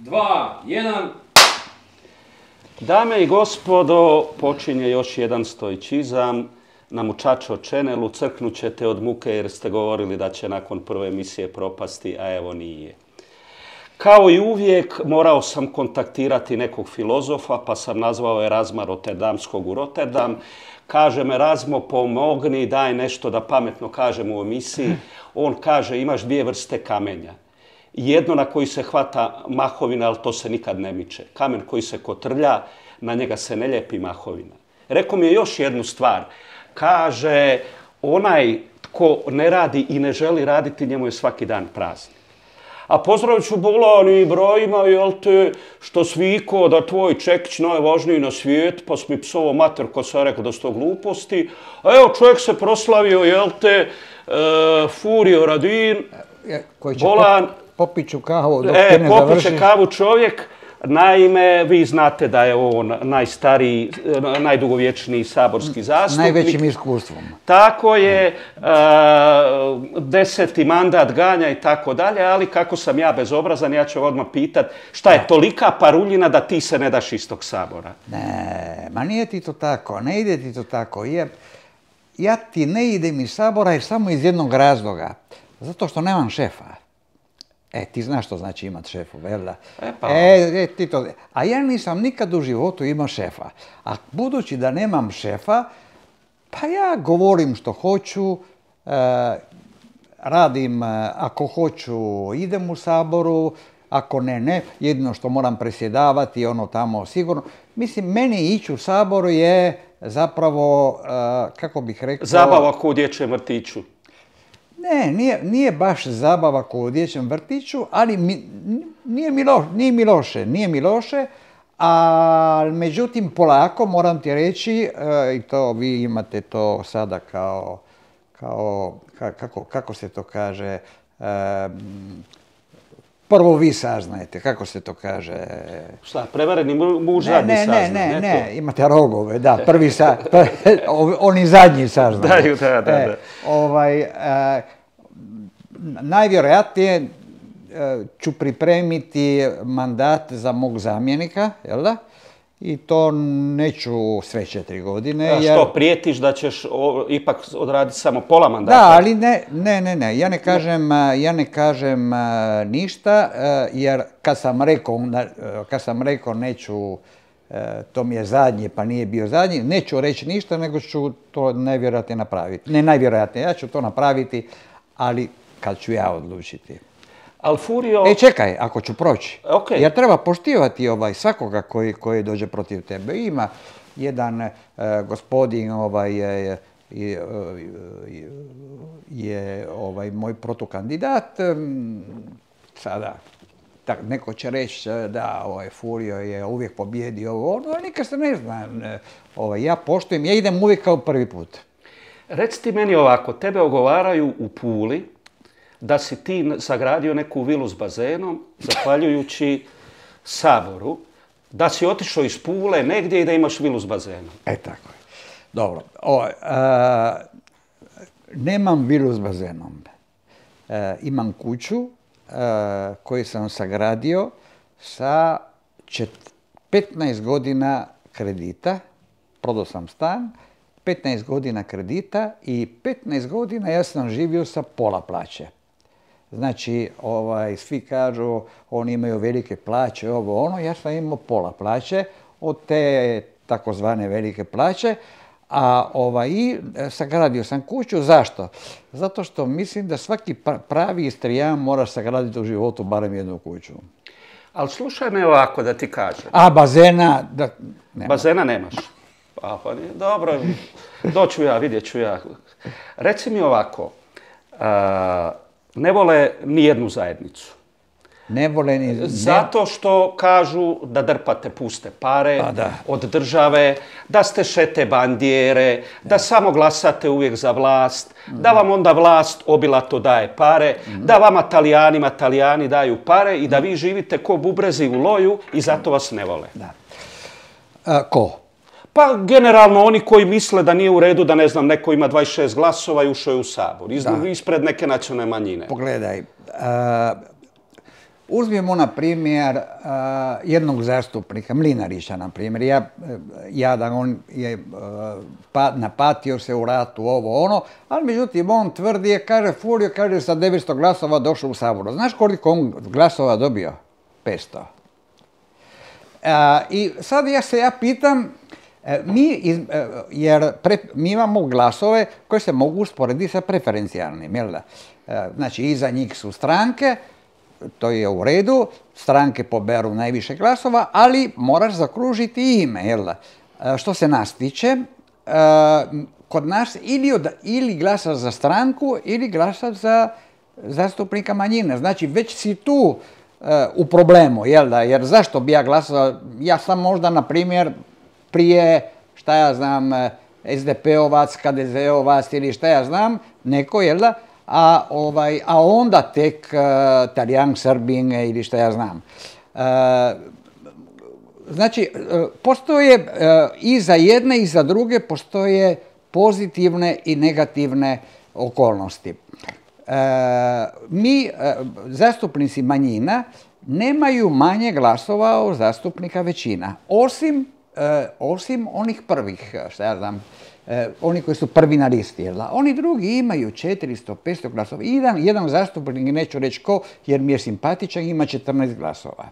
2, 1. Dame i gospodo, počinje još jedan stoičizam na mučačo čenelu. Crknut ćete od muke jer ste govorili da će nakon prve emisije propasti, a evo nije. Kao i uvijek morao sam kontaktirati nekog filozofa, pa sam nazvao Erazma Rotterdamskog u Rotterdam. Kažem, Erazmo, pomogni, daj nešto da pametno kažem u emisiji. On kaže, imaš dvije vrste kamenja. Jedno na koji se hvata mahovina, ali to se nikad ne miče. Kamen koji se kotrlja, na njega se ne lijepi mahovina. Rekao mi je još jednu stvar. Kaže, onaj tko ne radi i ne želi raditi, njemu je svaki dan praznik. A pozdravit ću bolani brojima, jel te, što sviko da tvoj čekić najvažniji na svijet, pa si mi psovo mater ko sam rekao da su to gluposti. A evo, čovjek se proslavio, jel te, Furio Radin, bolan. Popiću kavu dok te ne završiš. Popiće kavu čovjek. Naime, vi znate da je on najstariji, najdugovječniji saborski zastupnik. S najvećim iskustvom. Tako je, 10. mandat ganja i tako dalje, ali kako sam ja bezobrazan, ja ću odmah pitat šta je tolika paruljina da ti se ne daš iz tog sabora? Ne, ma nije ti to tako, ne ide ti to tako. Ja ti ne idem iz sabora jer samo iz jednog razloga. Zato što nemam šefa. Ti znaš što znači imat šefu, vel da? A ja nisam nikad u životu imao šefa. A budući da nemam šefa, pa ja govorim što hoću, radim, ako hoću idem u saboru, ako ne. Jedino što moram presjedavati, ono tamo sigurno. Mislim, meni ići u saboru je zapravo, kako bih rekao... Zabava ko u dječjem vrtiću. Ne, nije baš zabava kao u dječjem vrtiću, ali nije mi loše, a međutim polako moram ti reći, i to vi imate to sada kako se to kaže, prvo vi saznajete, kako se to kaže? Šta, prevareni muž zadnji saznaje? Ne, imate rogove, da, oni zadnji saznaju. Da. Najvjerojatnije ću pripremiti mandat za mog zamjenika, jel da? I to neću sve 4 godine. A što, prijetiš da ćeš ipak odraditi samo pola mandata? Da, ali ne. Ja ne kažem ništa, jer kad sam rekao neću, to mi je zadnje pa nije bio zadnji, neću reći ništa, nego ću to najvjerojatnije napraviti. Ne najvjerojatnije, ja ću to napraviti, ali kad ću ja odlučiti. Furio... Čekaj, ako ću proći. Okay. Jer treba poštivati svakoga koji dođe protiv tebe. Ima jedan gospodin je moj protukandidat. Sada, neko će reći da Furio je uvijek pobjedio ali nikad se ne zna. Ja poštujem, ja idem uvijek kao prvi put. Reci ti meni ovako, tebe ogovaraju u Puli da si ti sagradio neku vilu s bazenom, zahvaljujući saboru, da si otišao iz Pule negdje i da imaš vilu s bazenom. Tako je. Dobro. Nemam vilu s bazenom. Imam kuću koju sam sagradio sa 15 godina kredita. Prodao sam stan, 15 godina kredita i 15 godina ja sam živio sa pola plaće. Znači, svi kažu, oni imaju velike plaće, ja sam imao pola plaće od te takozvane velike plaće, a sagradio sam kuću. Zašto? Zato što mislim da svaki pravi Istrijan mora sagraditi u životu barem jednu kuću. Ali slušaj me ovako da ti kažem. A bazena? Bazena nemaš. Dobro, doću ja, vidjet ću ja. Reci mi ovako, ne vole ni jednu zajednicu. Ne vole ni... Zato što kažu da drpate puste pare od države, da ste šete bandijere, da samo glasate uvijek za vlast, da vam onda vlast obilato daje pare, da vama Talijani daju pare i da vi živite ko bubrezi u loju i zato vas ne vole. Ko? Pa generalno oni koji misle da nije u redu da, ne znam, neko ima 26 glasova i ušao je u sabor, ispred neke nacionalne manjine. Pogledaj, uzmimo na primjer jednog zastupnika, Mlinarića na primjer, jadan, on je napatio se u ratu, ovo ono, ali međutim on tvrdi, kaže Furio, kaže sa 900 glasova došao u Saboru. Znaš koliko on glasova dobio? 500. I sad ja pitam, mi imamo glasove koje se mogu usporediti sa preferencijalnim, jel da? Znači, iza njih su stranke, to je u redu, stranke poberu najviše glasova, ali moraš zakružiti ime, jel da? Što se nas tiče, kod nas ili glasaš za stranku ili glasaš za zastupnika manjine. Znači, već si tu u problemu, jel da? Jer zašto bi ja glasao? Ja sam možda, na primjer, prije, šta ja znam, SDP-ovac, HDZ-ovac ili šta ja znam, neko, jel da? A onda tek Talijan, Srbin ili šta ja znam. Znači, postoje i za jedne i za druge postoje pozitivne i negativne okolnosti. Mi, zastupnici manjina, nemaju manje glasova od zastupnika većina, osim onih prvih, šta ja znam, oni koji su prvi na listi, jel da? Oni drugi imaju 400, 500 glasova. Jedan zastupnik, neću reći ko, jer mi je simpatičan, ima 14 glasova.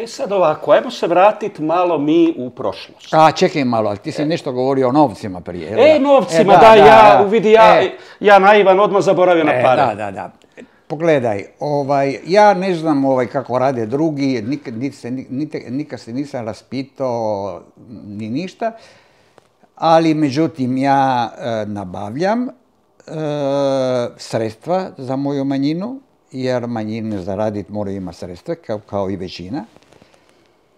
Sad ovako, ajmo se vratiti malo mi u prošlost. Čekaj malo, ali ti si nešto govorio o novcima prije. Novcima, ja naivan odmah zaboravio na pare. Da. Pogledaj, ja ne znam kako rade drugi, nikad se nisam raspitao ni ništa, ali međutim ja nabavljam sredstva za moju manjinu, jer manjine zaraditi moraju imati sredstva, kao i većina.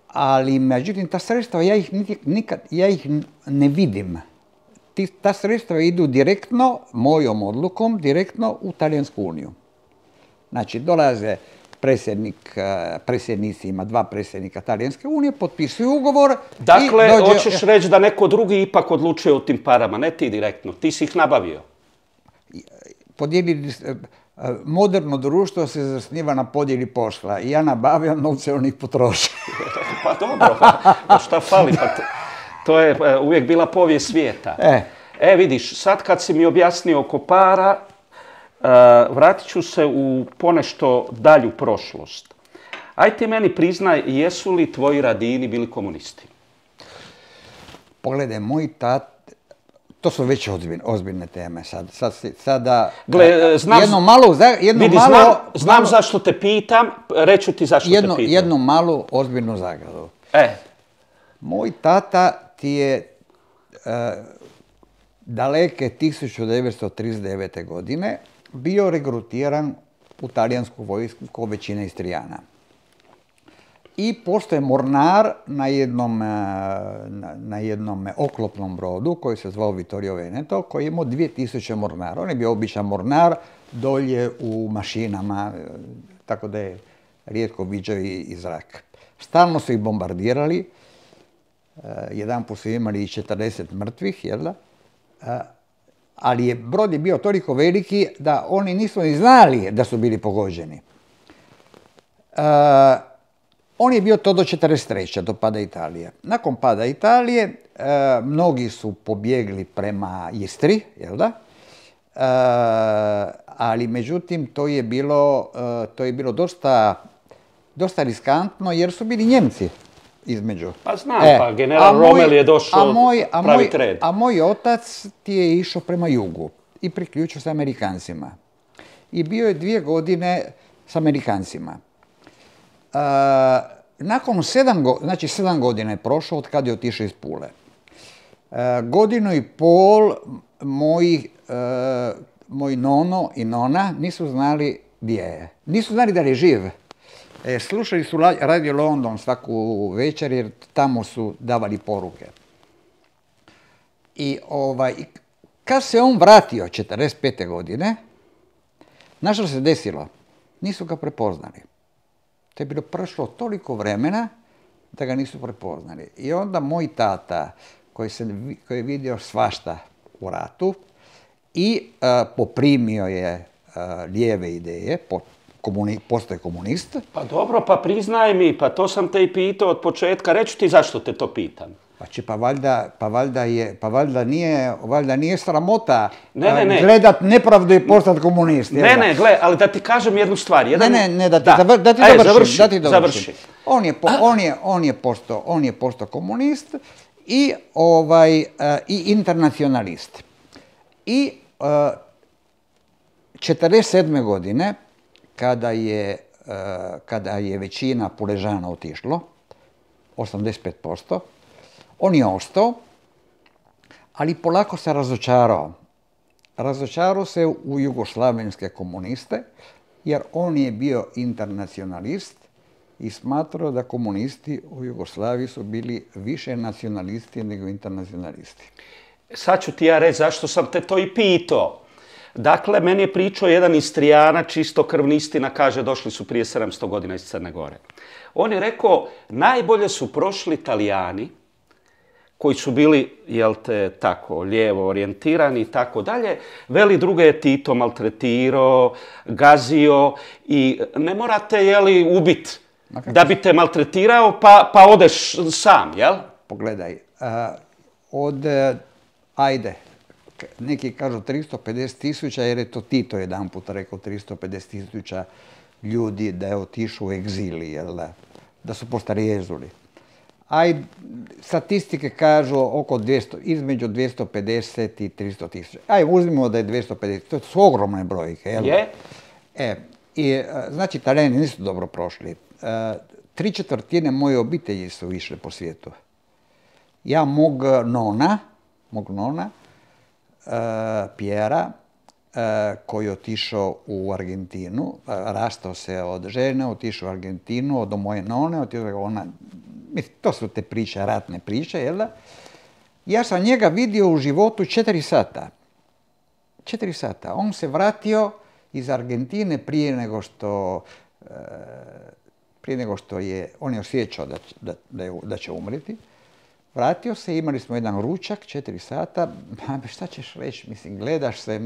Ali međutim ta sredstva, ja ih ne vidim. Ta sredstva idu direktno, mojom odlukom, direktno u Talijansku uniju. Znači, dolaze predsjednici, ima 2 predsjednika Talijanske unije, potpisuju ugovor. Dakle, hoćeš reći da neko drugi ipak odlučuje o tim parama, ne ti direktno, ti si ih nabavio. Moderno društvo se zasniva na podjeli posla i ja nabavljam novce, on ih potroši. Pa dobro, pa šta fali, pa to je uvijek bila povijest svijeta. Vidiš, sad kad si mi objasnio oko para, vratit ću se u ponešto dalju prošlost. Aj ti meni priznaj, jesu li tvoji Radini bili komunisti? Pogledaj, moj tat, to su već ozbiljne teme. Sada, gle, znam zašto te pitam, reću ti zašto te pitam. Jednu malu ozbiljnu zagradu. Moj tata ti je daleke 1939. godine bio regrutiran u talijansku vojsku kao većina Istrijana. I postoje mornar na jednom oklopnom brodu koji se zvao Vittorio Veneto, koji je imao 2000 mornara. On je bio običan mornar dolje u mašinama, tako da je rijetko viđao i zrak. Stalno su ih bombardirali, jedanput su imali i 40 mrtvih, jel da? Ali brod je bio toliko veliki da oni nisu ni znali da su bili pogođeni. On je bio to do 1943. do pada Italije. Nakon pada Italije, mnogi su pobjegli prema Istri, jel da? Ali međutim, to je bilo dosta riskantno jer su bili Njemci između. Pa znam, pa general Rommel je došao praviti red. A moj otac ti je išao prema jugu i priključio se Amerikancima. I bio je 2 godine s Amerikancima. Nakon 7 godina je prošlo od kada je otišao iz Pule. 1,5 godinu moj nono i nona nisu znali gdje je. Nisu znali da je živ. Slušali su Radio London svaku večer jer tamo su davali poruke. I kad se on vratio 1945. godine, znaš što se desilo? Nisu ga prepoznali. To je bilo prošlo toliko vremena da ga nisu prepoznali. I onda moj tata, koji je vidio svašta u ratu i poprimio je lijeve ideje, postoje komunist. Pa dobro, pa priznaj mi, pa to sam te i pitao od početka. Reću ti zašto te to pitam. Valjda nije sramota Ne. gledat nepravdu i postati komunist. Ne, gle, ali da ti kažem jednu stvar. Ne, da ti završim. On je postao komunist i internacionalist. I 47. godine, kada je većina Puležana otišlo, 85%, on je ostao, ali polako se razočarao. Razočarao se u jugoslavenske komuniste, jer on je bio internacionalist i smatrao da komunisti u Jugoslaviji su bili više nacionalisti nego internacionalisti. Sad ću ti ja reći zašto sam te to i pitao. Dakle, meni je pričao jedan Istrijana, čistokrvni, istina, kaže, došli su prije 700 godina iz Crne Gore. On je rekao, najbolje su prošli Italijani, koji su bili, jel te, tako, lijevo orijentirani i tako dalje. Veli, druge je Tito maltretirao, gazio i ne morate, jeli, ubit da bi te maltretirao pa odeš sam, jel? Pogledaj, neki kažu 350.000, jer je to Tito jedan put rekao 350.000 ljudi da je otišao u egzili, jel da su postarijezuli. Statistike kažu između 250 i 300.000. Uzmimo da je 250, to su ogromne brojke, jel? Je. Znači, Italijani nisu dobro prošli. 3/4 moje obitelji su išle po svijetu. Ja mog nona, Pjera, koji je otišao u Argentinu, rastao se od žene, otišao u Argentinu, od moje none, to su te priče, ratne priče, jel da? Ja sam njega vidio u životu 4 sata. 4 sata. On se vratio iz Argentine prije nego što on je osjećao da će umreti. Vratio se, imali smo jedan ručak, 4 sata, šta ćeš reći, gledaš se,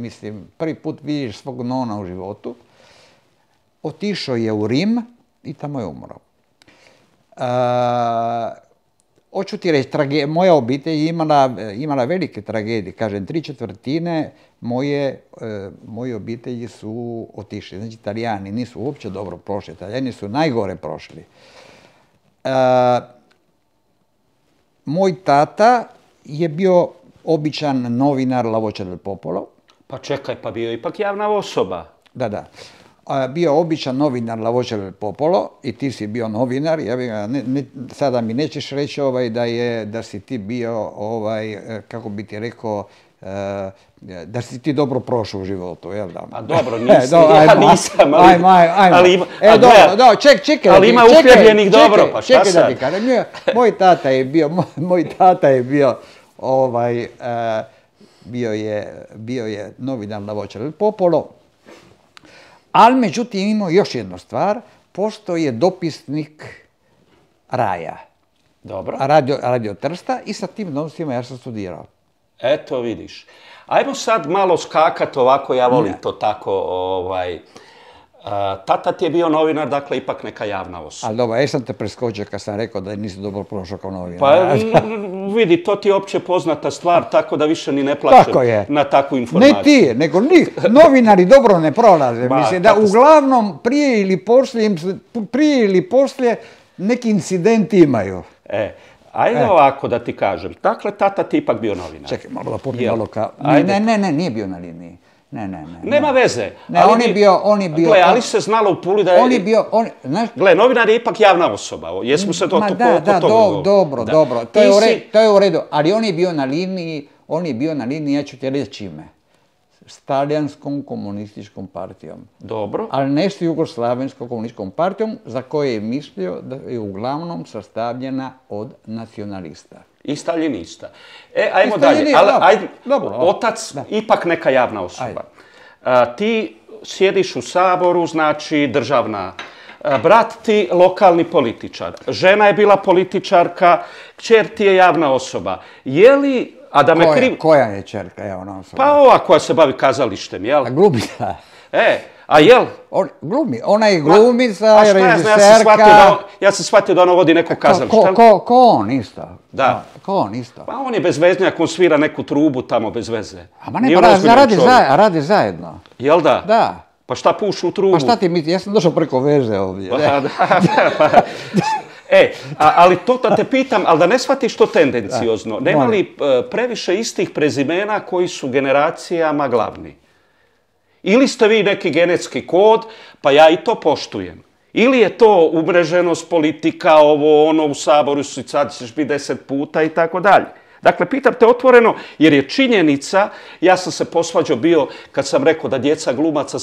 prvi put vidiš svog nona u životu. Otišao je u Rim i tamo je umro. Hoću ti reći, moja obitelj je imala velike tragedije, kažem, 3/4 moje obitelji su otišli. Znači, Italijani nisu uopće dobro prošli, Italijani su najgore prošli. Moj tata je bio običan novinar La Voce del Popolo. Pa čekaj, pa bio ipak javna osoba. Da. Bio običan novinar La Voce del Popolo i ti si bio novinar. Sada mi nećeš reći da si ti bio, kako bi ti rekao, da si ti dobro prošao u životu, jel da? Pa dobro, ja nisam, ali ima uhljebljenih dobro, pa šta sad? Moj tata je bio je novinar La Voce del Popolo, ali međutim imao još jednu stvar, postao je dopisnik Raja. Dobro. Radio Trsta i sa tim donosima ja sam studirao. Eto, vidiš. Ajmo sad malo skakat ovako, ja volim to tako, tata ti je bio novinar, dakle, ipak neka javna osoba. Ali dobro, sam te preskočio kad sam rekao da nisi dobro prošao kao novinar. Pa vidi, to ti je opće poznata stvar, tako da više ni ne plaćem na takvu informaciju. Ne ti, nego novinari dobro ne prolaze. Mislim da uglavnom prije ili poslije neki incidenti imaju. Ajde ovako da ti kažem. Dakle, tata ti ipak bio novinar. Čekaj, malo da popijem malo kao... Ne, nije bio na liniji. Ne. Nema veze. On je bio... Gle, ali se znalo u Puli da je... On je bio... Gle, novinar je ipak javna osoba. Jesmo se to dobro. To je u redu. Ali on je bio na liniji, ja ću ti reći čime. S Talijanskom komunističkom partijom. Dobro. Ali ne s Jugoslavenskom komunističkom partijom, za koje je mislio da je uglavnom sastavljena od nacionalista. I staljinista. Ajmo dalje. Otac, ipak neka javna osoba. Ti sjediš u Saboru, znači državna. Brat ti lokalni političar. Žena je bila političarka, kćer ti je javna osoba. Je li... Koja je ćerka javna osoba? Pa ova koja se bavi kazalištem, jel? Glumica. A jel? Glumi, ona je glumica, A šta režiserka. ja sam shvatio da ono vodi neko kazalište. Ko on isto. Da. Ko on isto. Pa on je bezveznjak, on svira neku trubu tamo bez veze. A ne, pa radi zajedno. Jel da? Da. Pa šta pušu u trubu? Pa šta ti misli, ja sam došao preko veze ovdje. Ali to da te pitam, ali da ne shvatiš to tendenciozno. Nema li previše istih prezimena koji su generacijama glavni? Ili ste vi neki genetski kod, pa ja i to poštujem. Ili je to umreženost, politika, ovo, ono, u Saboru sad ćeš biti 10 puta i tako dalje. Dakle, pitam te otvoreno, jer je činjenica, ja sam se posvađao bio kad sam rekao da djeca glumaca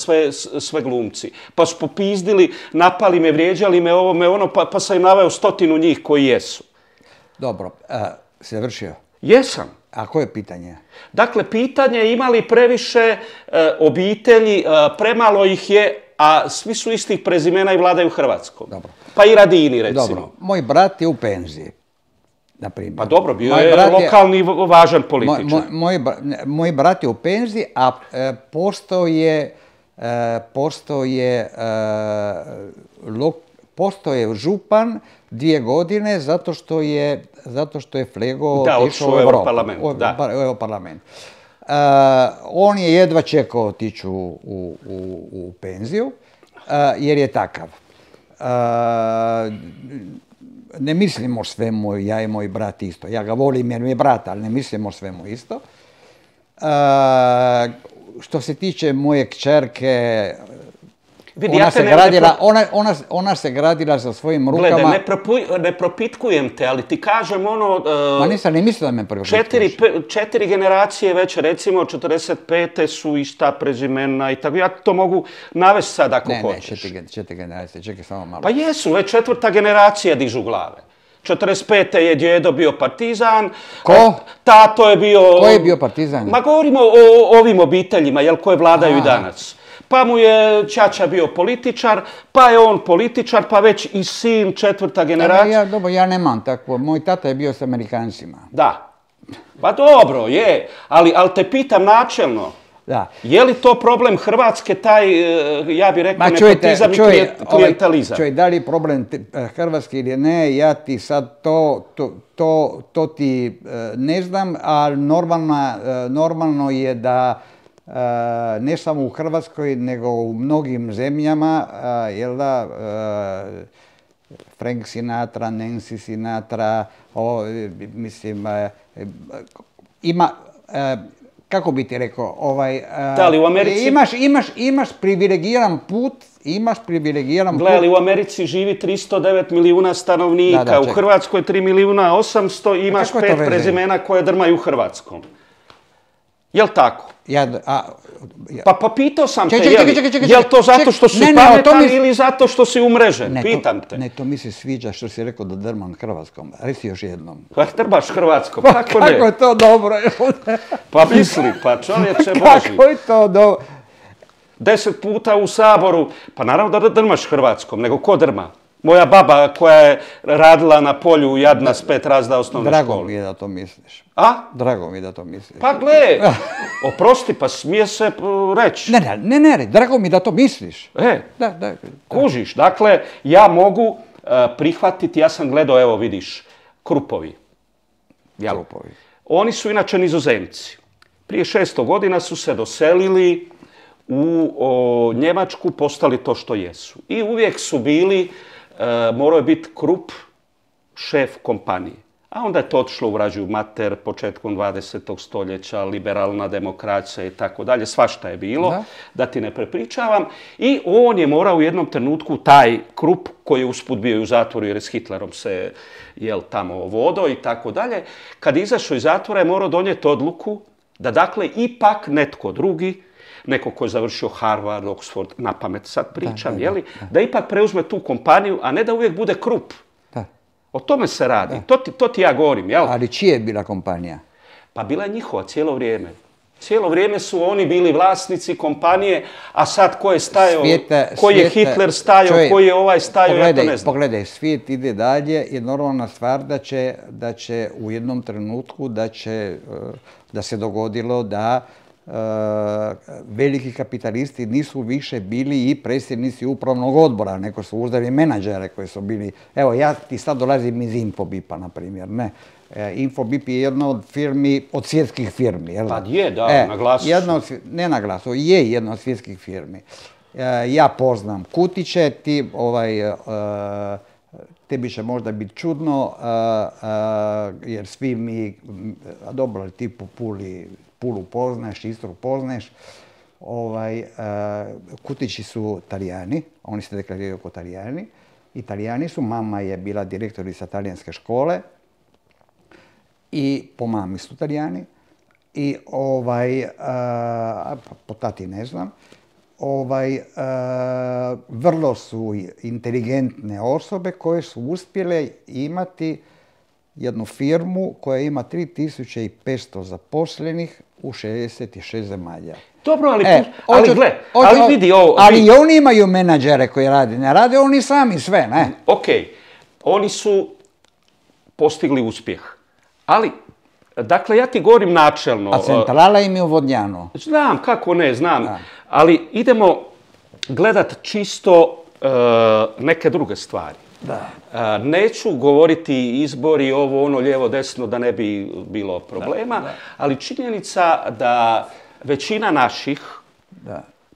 sve glumci. Pa su popizdili, napali me, vrijeđali me ovo, me ono, pa sam im naveo 100 njih koji jesu. Dobro, si završio? Jesam. A koje je pitanje? Dakle, pitanje je ima li previše obitelji, premalo ih je, a svi su istih prezimena i vladaju Hrvatskom. Dobro. Pa i Radini, recimo. Dobro, moj brat je u penziji. Naprimjer. Pa dobro, bio je lokalni važan političar. Moj brat je u penziji, a postoje župan 2 godine zato što je Flego otišao u Europarlament. On je jedva čekao otići u penziju jer je takav. Ne mislimo o svemu, ja i moj brat isto. Ja ga volim jer mi je brat, ali ne mislimo o svemu isto. Što se tiče moje kćerke, ona se gradila sa svojim rukama. Gledaj, ne propitkujem te, ali ti kažem ono... Ma nisam, ne mislim da me propitkuješ. 4 generacije već, recimo, 45. su ista prezimena i tako. Ja to mogu navesti sad ako hoćeš. Ne, 4 generacije, čekaj samo malo. Pa jesu, već 4. generacija dižu glave. 45. je djedo bio partizan. Ko? Tato je bio... Ko je bio partizan? Ma govorimo o ovim obiteljima, jel, koje vladaju i danas. Pa mu je ćaća bio političar, pa je on političar, pa već i sin 4. generacija. Dobro, ja nemam tako. Moj tata je bio s Amerikancima. Da. Pa dobro, je. Ali te pitam načelno. Da. Je li to problem Hrvatske, taj, ja bih rekao, nepotizam i klijentalizam? Da li je problem Hrvatske ili ne, ja ti sad to ti ne znam, ali normalno je da ne samo u Hrvatskoj, nego u mnogim zemljama, jel da, Frank Sinatra, Nancy Sinatra, mislim, ima, kako bi ti rekao, da li u Americi... Imaš privilegiran put, Gle, ali u Americi živi 309 milijuna stanovnika, u Hrvatskoj 3.800.000, imaš 5 prezimena koje drmaju Hrvatskom. Jel' tako? Pa pitao sam te, je li to zato što si pametan ili zato što si umrežen? Pitam te. Ne, to mi se sviđa što si rekao da drmam Hrvatskom. Reci još jednom. Pa drmaš Hrvatskom, kako ne? Kako je to dobro? Pa misli, pa čovječe Boži. Kako je to dobro? 10 puta u Saboru, pa naravno da drmaš Hrvatskom, nego ko drma? Moja baba koja je radila na polju jadna s 5 razreda osnovne škole. Drago mi je da to misliš. A? Drago mi je da to misliš. Pa gle, oprosti, pa smije se reći. Ne, drago mi da to misliš. Da. Kužiš, dakle, ja mogu prihvatiti, ja sam gledao, evo vidiš, Krupovi. Krupovi. Oni su inače Nizozemci. Prije 600 godina su se doselili u Njemačku, postali to što jesu. I uvijek su bili, morao je biti Krupp šef kompanije. A onda je to otišlo u vražju mater početkom 20. stoljeća, liberalna demokracija i tako dalje, svašta je bilo, da ti ne prepričavam. I on je morao u jednom trenutku, taj Krupp, koji je usput bio u zatvoru jer je s Hitlerom se tamo vodo i tako dalje, kad je izašao iz zatvora je morao donijeti odluku da dakle ipak netko drugi, neko ko je završio Harvard, Oxford, na pamet sad pričam, da ipak preuzme tu kompaniju, a ne da uvijek bude Krupp. O tome se radi. To ti ja govorim, jel? Ali čija je bila kompanija? Pa bila je njihova cijelo vrijeme. Cijelo vrijeme su oni bili vlasnici kompanije, a sad ko je stajao, koji je Hitler stajao, koji je ovaj stajao, ja to ne znam. Pogledaj, svijet ide dalje i normalna stvar da će u jednom trenutku da se dogodilo da veliki kapitalisti nisu više bili i predsjednici upravnog odbora, nego su uzeli menadžere koji su bili, evo ja ti sad dolazim iz Infobipa, na primjer, ne. Infobip je jedna od firmi, od svjetskih firmi, jel da? Pa je, da, na glasu. Ne na glasu, je jedna od svjetskih firmi. Ja poznam Kutiće, tebi će možda biti čudno, jer svi mi, dobro, ti po Pulu poznaješ, Istru poznaješ, Kutići su Talijani, oni se deklariraju kao Talijani. Italijani su, mama je bila direktorica talijanske škole i po mami su Talijani i po tati ne znam. Vrlo su inteligentne osobe koje su uspjele imati jednu firmu koja ima 3500 zaposlenih u 66 zemalja. Dobro, ali vidi ovo. Ali i oni imaju menadžere koji rade, ne rade oni sami sve, ne? Ok, oni su postigli uspjeh, ali, dakle, ja ti govorim načelno. A centrala im je u Vodnjanu. Znam, kako ne, znam, ali idemo gledat čisto neke druge stvari. Da. Neću govoriti izbori, ovo, ono, lijevo, desno, da ne bi bilo problema, ali činjenica da većina naših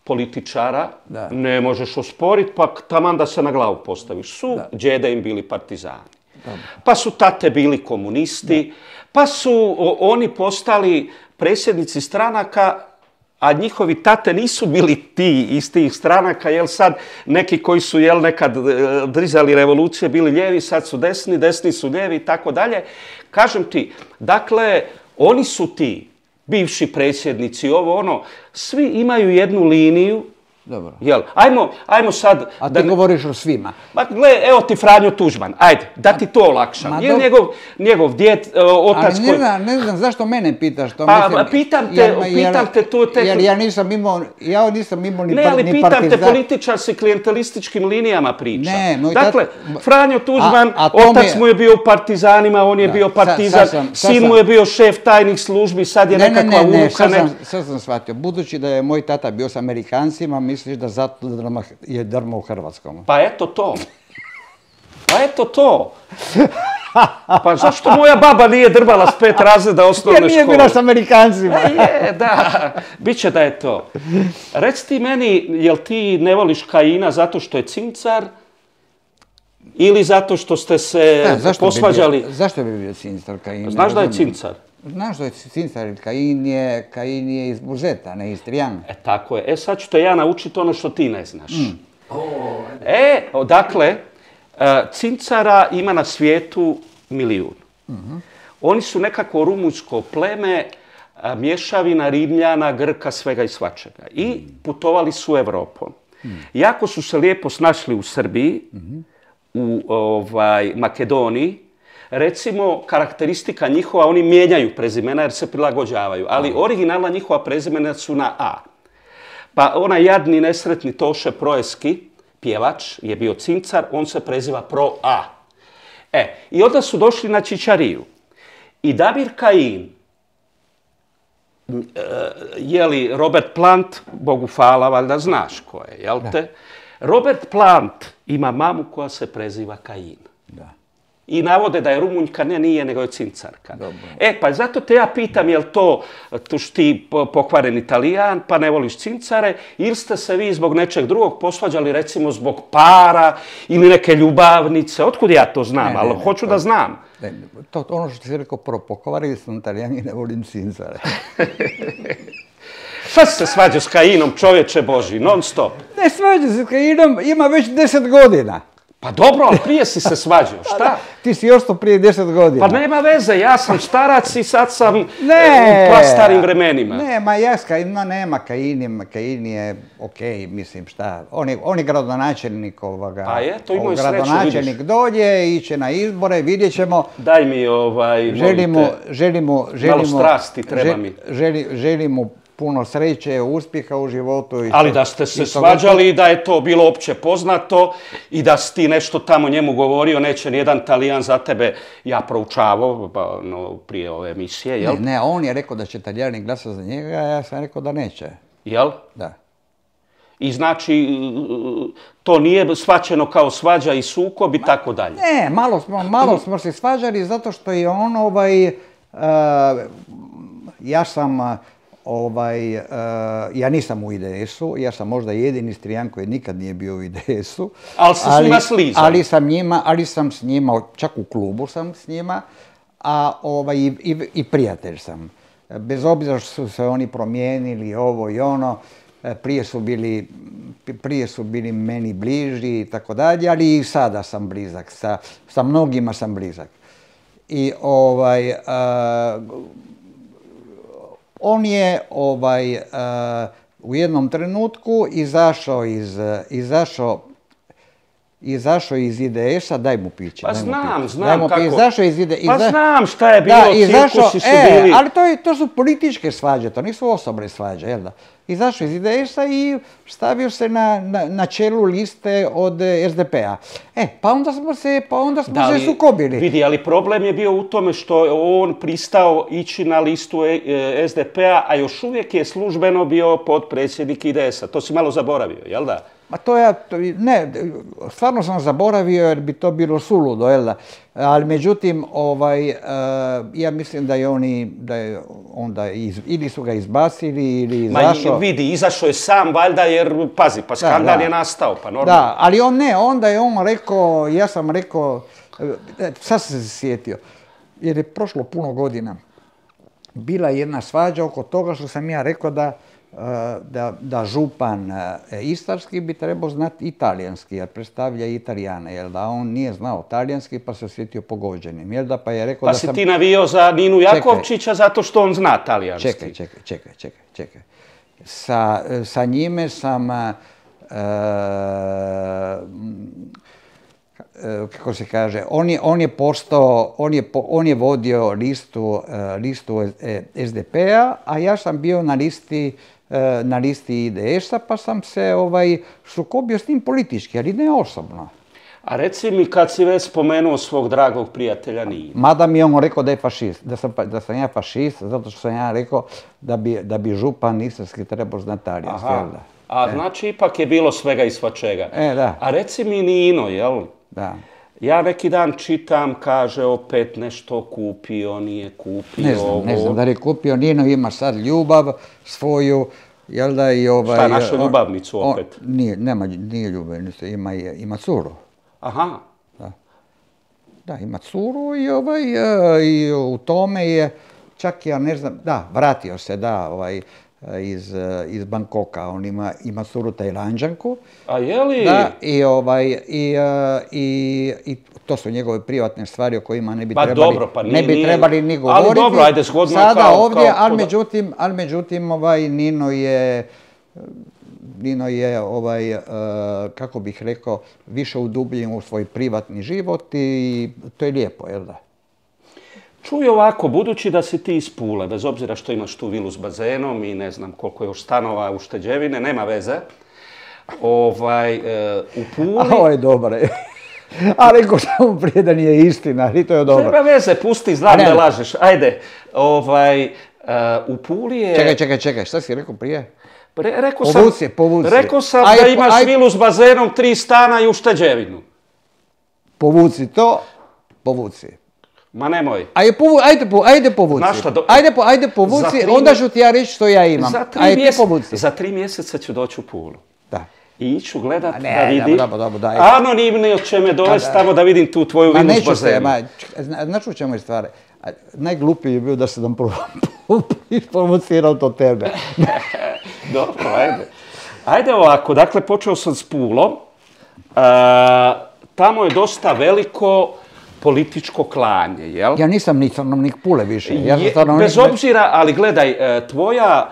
političara, ne možeš osporiti, pa taman da se na glavu postaviš, su džede im bili partizani. Pa su tate bili komunisti, pa su oni postali predsjednici stranaka, a njihovi tate nisu bili ti iz tih stranaka, jel sad neki koji su nekad drizali revolucije bili lijevi, sad su desni, desni su lijevi i tako dalje. Kažem ti, dakle, oni su ti, bivši predsjednici, ovo ono, svi imaju jednu liniju. Dobro. Jel, ajmo sad... A ti govoriš o svima. Ma gle, evo ti Franjo Tuđman, ajde, da ti to olakšam. Je njegov djed, otac koji... Ali ne znam, zašto mene pitaš to? Pa pitam te to... Jer ja nisam imao ni partizan... Ne, ali pitam te, političar si klijentelističkim linijama priča. Dakle, Franjo Tuđman, otac mu je bio u partizanima, on je bio partizan, sin mu je bio šef tajnih službi, sad je nekakva unuka... Sad sam shvatio, budući da je moj tata bio s Amerikancima, misliš da zato je drma u Hrvatskom? Pa eto to. Pa zašto moja baba nije drmala s 5 razreda osnovne škole? Jer nije bila s Amerikancima. Da, bit će da je to. Reci ti meni, jel ti ne voliš Kajina zato što je cincar ili zato što ste se posvađali? Zašto bi bio cincar Kajin? Znaš da je cincar? Znaš da je cincar, Kajin je iz Buzeta, ne iz Trijana. Tako je. Sad ću te ja naučiti ono što ti ne znaš. Dakle, cincara ima na svijetu 1 milijun. Oni su nekako rumunjsko pleme, mješavina Rimljana, Grka, svega i svačega. I putovali su Evropom. Jako su se lijepo snašli u Srbiji, u Makedoniji. Recimo, karakteristika njihova, oni mijenjaju prezimena jer se prilagođavaju, ali originalna njihova prezimena su na A. Pa onaj jadni, nesretni Toše Proeski, pjevač, je bio cincar, on se preziva Pro A. I onda su došli na Čičariju. I Damir Kajin, Robert Plant, Bogu hvala, valjda znaš ko je, jel te? Robert Plant ima mamu koja se preziva Kajin. I navode da je Rumunjka, nije, nego je cincarka. Pa zato te ja pitam, jel to ti pokvaren Italijan, pa ne voliš cincare, ili ste se vi zbog nečeg drugog posvađali, recimo zbog para ili neke ljubavnice? Otkud ja to znam, ali hoću da znam. Ono što ti si rekao, pokvarili sam Italijani, ne volim cincare. Šta si se svađao s Kajinom, čovječe Boži, non stop? Ne svađao se s Kajinom, ima već 10 godina. Pa dobro, ali prije si se svađao, šta? Ti si ostao prije 10 godina. Pa nema veze, ja sam starac i sad sam u prastarim vremenima. Nema Kajin je okej, mislim šta. On je gradonačelnik ovoga. Pa je, to imao i sreću, vidiš. Gradonačelnik dođe, iće na izbore, vidjet ćemo. Daj mi, Želimo malo strasti treba mi. Želimo puno sreće, uspjeha u životu. Ali da ste se svađali i da je to bilo opće poznato i da si ti nešto tamo njemu govorio, neće nijedan Talijan za tebe, ja proučavao prije ove emisije, jel? Ne, on je rekao da će Talijani glasati za njega, a ja sam rekao da neće. Jel? Da. I znači, to nije shvaćeno kao svađa i sukob i tako dalje. Ne, malo smo se svađali zato što je on, ja sam, ja nisam u IDS-u, ja sam možda jedini Istrijan koji nikad nije bio u IDS-u. Ali se s njima slizao. Ali sam s njima, čak u klubu sam s njima, i prijatelj sam. Bez obzira što su se oni promijenili, ovo i ono, prije su bili meni bliži i tako dalje, ali i sada sam blizak, sa mnogima sam blizak. I on je u jednom trenutku izašao iz IDS-a, daj mu piće. Pa znam kako. Izašao iz IDS-a. Pa znam šta je bilo, cirkusi su bili. Ali to su političke svađe, to nisu osobne svađe, jel da? Izašao iz IDS-a i stavio se na čelu liste od SDP-a. Pa onda smo se sukobili. Vidi, ali problem je bio u tome što je on pristao ići na listu SDP-a, a još uvijek je službeno bio potpredsjednik IDS-a. To si malo zaboravio, jel da? Ma ne, stvarno sam zaboravio jer bi to bilo suludo, jel da? Ali međutim, ja mislim da je onda ili su ga izbacili ili izašao. Ma vidi, izašao je sam valjda jer, pazi, pa skandal je nastao, pa normalno. Da, ali onda je on rekao, ja sam rekao, sad sam se sjetio, jer je prošlo puno godina. Bila je jedna svađa oko toga što sam ja rekao da župan istarski bi trebao znati italijanski, jer predstavlja Italijane, jel da on nije znao talijanski pa se osjetio pogođenim, jel da, pa je rekao pa da sam... Pa si ti navio za Ninu Jakovčića zato što on zna talijanski. Čekaj. Sa njime sam, kako se kaže, on je vodio listu SDP-a, a ja sam bio na listi IDS-a, pa sam se sukobio s njim politički, ali ne osobno. A reci mi, kad si već spomenuo svog dragog prijatelja Ninu. Mada mi je on rekao da je fašist, da sam ja fašist, zato što sam ja rekao da bi župan istarski trebao znati talijanski. A znači ipak je bilo svega i svačega. Da. A reci mi Nino, jel? Da. Ja neki dan čitam, kaže opet nešto kupio, nije kupio. Ne znam da li je kupio. Nino ima sad ljubav svoju, jel da i Šta, našu ljubavnicu opet? Nije ljubavnicu, ima curu. Aha. Da, ima curu i u tome je, čak ja ne znam, da, vratio se, iz Bangkoka, on ima curu Tajlanđanku. A je li? Da, i to su njegove privatne stvari o kojima ne bi trebali ni govoriti. Ali dobro, ajde, zgodno sada ovdje, ali međutim, Nino je, kako bih rekao, više udubljen u svoj privatni život i to je lijepo, jel da? Čuj ovako, budući da si ti iz Pule, bez obzira što imaš tu vilu s bazenom i ne znam koliko je još stanova ušteđevine, nema veze. U Puli... Ovo je dobro. A rekao sam prije da nije istina, ali to je dobro. Nema veze, pusti, znam da lažeš. Ajde, u Puli je... Čekaj, šta si rekao prije? Povuci. Rekao sam da imaš vilu s bazenom, 3 stana i ušteđevinu. Povuci to, povuci. Ma nemoj. Ajde povuci. Ajde povuci, onda ću ti ja reći što ja imam. Za 3 mjeseca ću doći u Pulu. Da. I iću gledat da vidim. Dobro. Anonimno će me dovesti tamo da vidim tu tvoju vilu s bazenom. Znaš u čemu je stvar? Najglupiji je bio da se nam isprovocirao to tebe. Dobro, ajde. Ajde ovako, dakle počeo sam s Pulom. Tamo je dosta veliko političko klanje, jel? Ja nisam ni stanovnik Pule više. Bez obzira, ali gledaj, tvoja...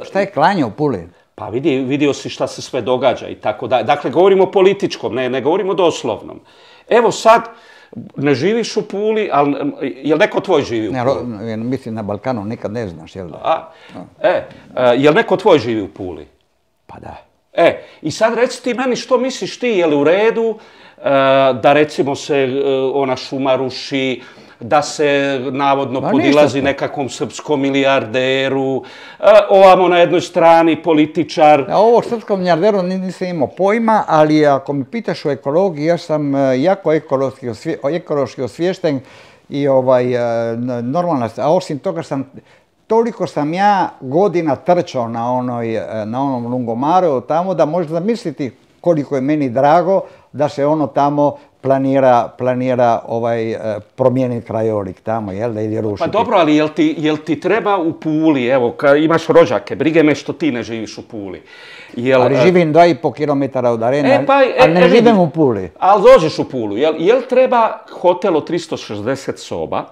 Šta je klanje u Puli? Pa vidio si šta se sve događa i tako da. Dakle, govorimo o političkom, ne govorimo o doslovnom. Evo sad, Ne živiš u Puli, ali je li neko tvoj živi u Puli? Ne, mislim na Balkanu nikad ne znaš, jel da? Je li neko tvoj živi u Puli? Pa da. I sad reci ti meni što misliš ti, je li u redu da recimo se ona šuma ruši, da se navodno podilazi nekakvom srpskom milijarderu, ovamo na jednoj strani političar. Ovo srpskom milijarderu nisam imao pojma, ali ako mi pitaš o ekologiji, ja sam jako ekološki osviješten i normalna, a osim toga toliko sam ja godina trčao na onom Lungomaru tamo da možeš zamisliti koliko je meni drago da se ono tamo planira promijeniti krajolik tamo, jel da, ili rušiti. Pa dobro, ali jel ti treba u Puli, evo, kad imaš rođake, brige me što ti ne živiš u Puli. Ali živim 2,5 km od Arene, ali ne živim u Puli. Ali dođeš u Pulu, jel treba hotel od 360 soba,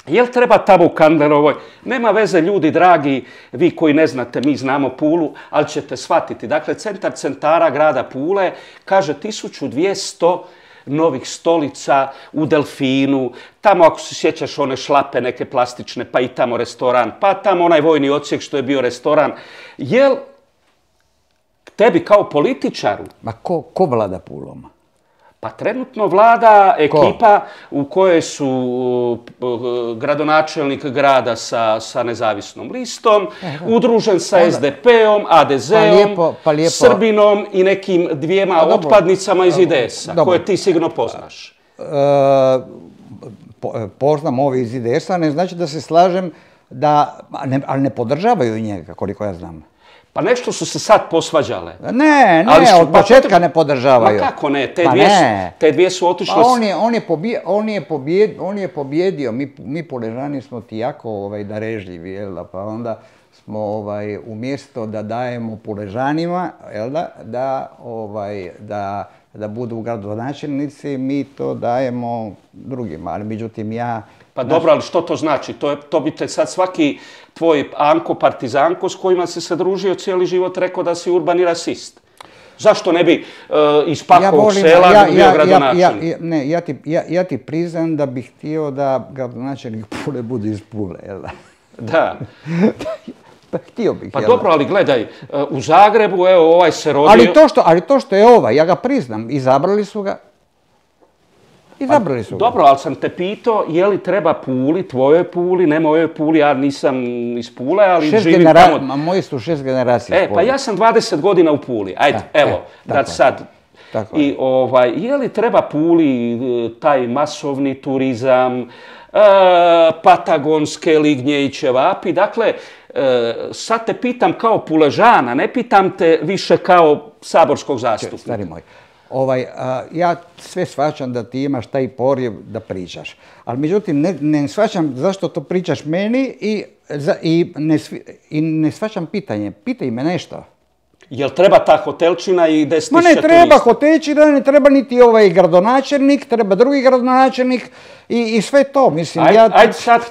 jel treba tamo u Kandlerovoj? Nema veze, ljudi dragi, vi koji ne znate, mi znamo Pulu, ali ćete shvatiti. Dakle, centar centara grada Pule kaže 1200 novih stolica u Delfinu, tamo ako se sjećaš one šlape neke plastične, pa i tamo restoran, pa tamo onaj vojni odsjek što je bio restoran. Jel tebi kao političaru... Ma ko vlada Pulom? Pa trenutno vlada ekipa u kojoj su gradonačelnik grada sa nezavisnom listom, udružen sa SDP-om, ADZ-om, Srbinom i nekim dvijema otpadnicama iz IDS-a, koje ti sigurno poznaš. Poznam ovi iz IDS-a, ne znači da se slažem, ali ne podržavaju njega, koliko ja znam. Pa nešto su se sad posvađale. Ne, od početka ne podržavaju. Ma kako ne, te dvije su otišle... On je pobjedio, mi Puležani smo ti jako darežljivi, jel da, pa onda smo umjesto da dajemo Puležanima, jel da budu gradonačelnici, mi to dajemo drugima, ali međutim ja... Pa dobro, ali što to znači? To bi te sad svaki tvoj Anko Partizanko s kojima si se družio cijeli život rekao da si urbani rasist. Zašto ne bi iz Pakovog sela bio gradonačelnik? Ne, ja ti priznam da bih htio da gradonačelnik Pule bude iz Pule, jel da? Da. Htio bih. Pa dobro, ali gledaj, u Zagrebu, evo, ovaj se rodio... Ali to što je ovaj, ja ga priznam, izabrali su ga. Dobro, ali sam te pitao je li treba Puli, tvojoj Puli, ne mojoj Puli, ja nisam iz Pule, ali živim tamo... Moji su 6 generacija iz Pule. Pa ja sam 20 godina u Puli, ajde, evo, da sad... I je li treba Puli taj masovni turizam, patagonske lignje i ćevapi, dakle, sad te pitam kao Puležana, ne pitam te više kao saborskog zastupnika. Stari moj. Ja sve shvaćam da ti imaš taj porjev da pričaš, ali međutim ne shvaćam zašto to pričaš meni i ne shvaćam pitanje. Pitaj me nešto. Jel treba ta hotelčina i 10.000 turista? Ma ne treba hotelčina, ne treba niti ovaj gradonačelnik, treba drugi gradonačelnik i sve to. Mislim, ajde sad,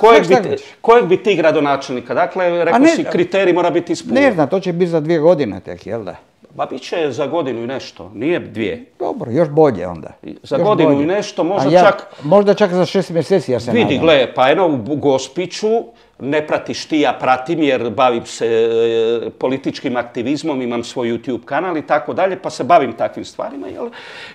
kojeg bi ti gradonačelnika? Dakle, rekao si, kriterij mora biti ispunjen. Ne znam, to će biti za 2 godine tek, jel da? Ba bit će za godinu i nešto, nije 2. Dobro, još bolje onda. Za godinu i nešto, možda čak za 6 mjeseci, ja se nadam. Vidi, gle, pa eno u Gospiću, ne pratiš ti, ja pratim jer bavim se političkim aktivizmom, imam svoj YouTube kanal i tako dalje, pa se bavim takvim stvarima, jer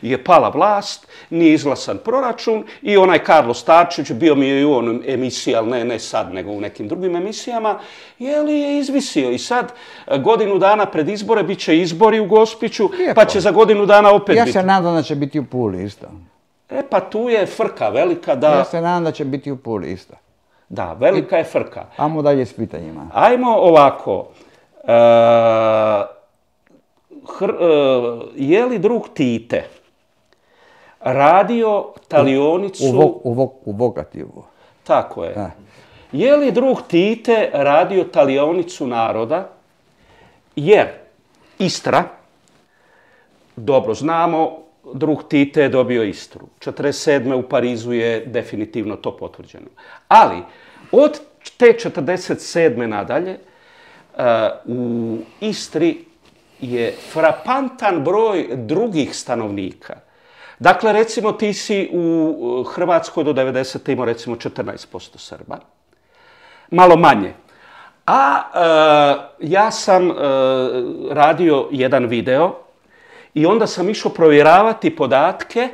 je pala vlast, nije izglasan proračun i onaj Karlo Starčević, bio mi je i u onom emisiji, ali ne sad, nego u nekim drugim emisijama, je izvisio i sad godinu dana pred izbore bit će izbori u Gospiću, pa će za godinu dana opet biti. Ja se nadam da će biti u Puli isto. Pa tu je frka velika da... Ja se nadam da će biti u Puli isto. Da, velika je frka. Ajmo dalje s pitanjima. Ajmo ovako. Je li drug Tite radio talionicu... U vogativu. Tako je. Je li drug Tite radio talionicu naroda? Jer Istra, dobro znamo, drug Tite je dobio Istru. 1947. u Parizu je definitivno to potvrđeno. Ali od te 1947. nadalje u Istri je frapantan broj drugih stanovnika. Dakle, recimo ti si u Hrvatskoj do 90. imao recimo 14% Srba, malo manje. A ja sam radio jedan video i onda sam išao provjeravati podatke,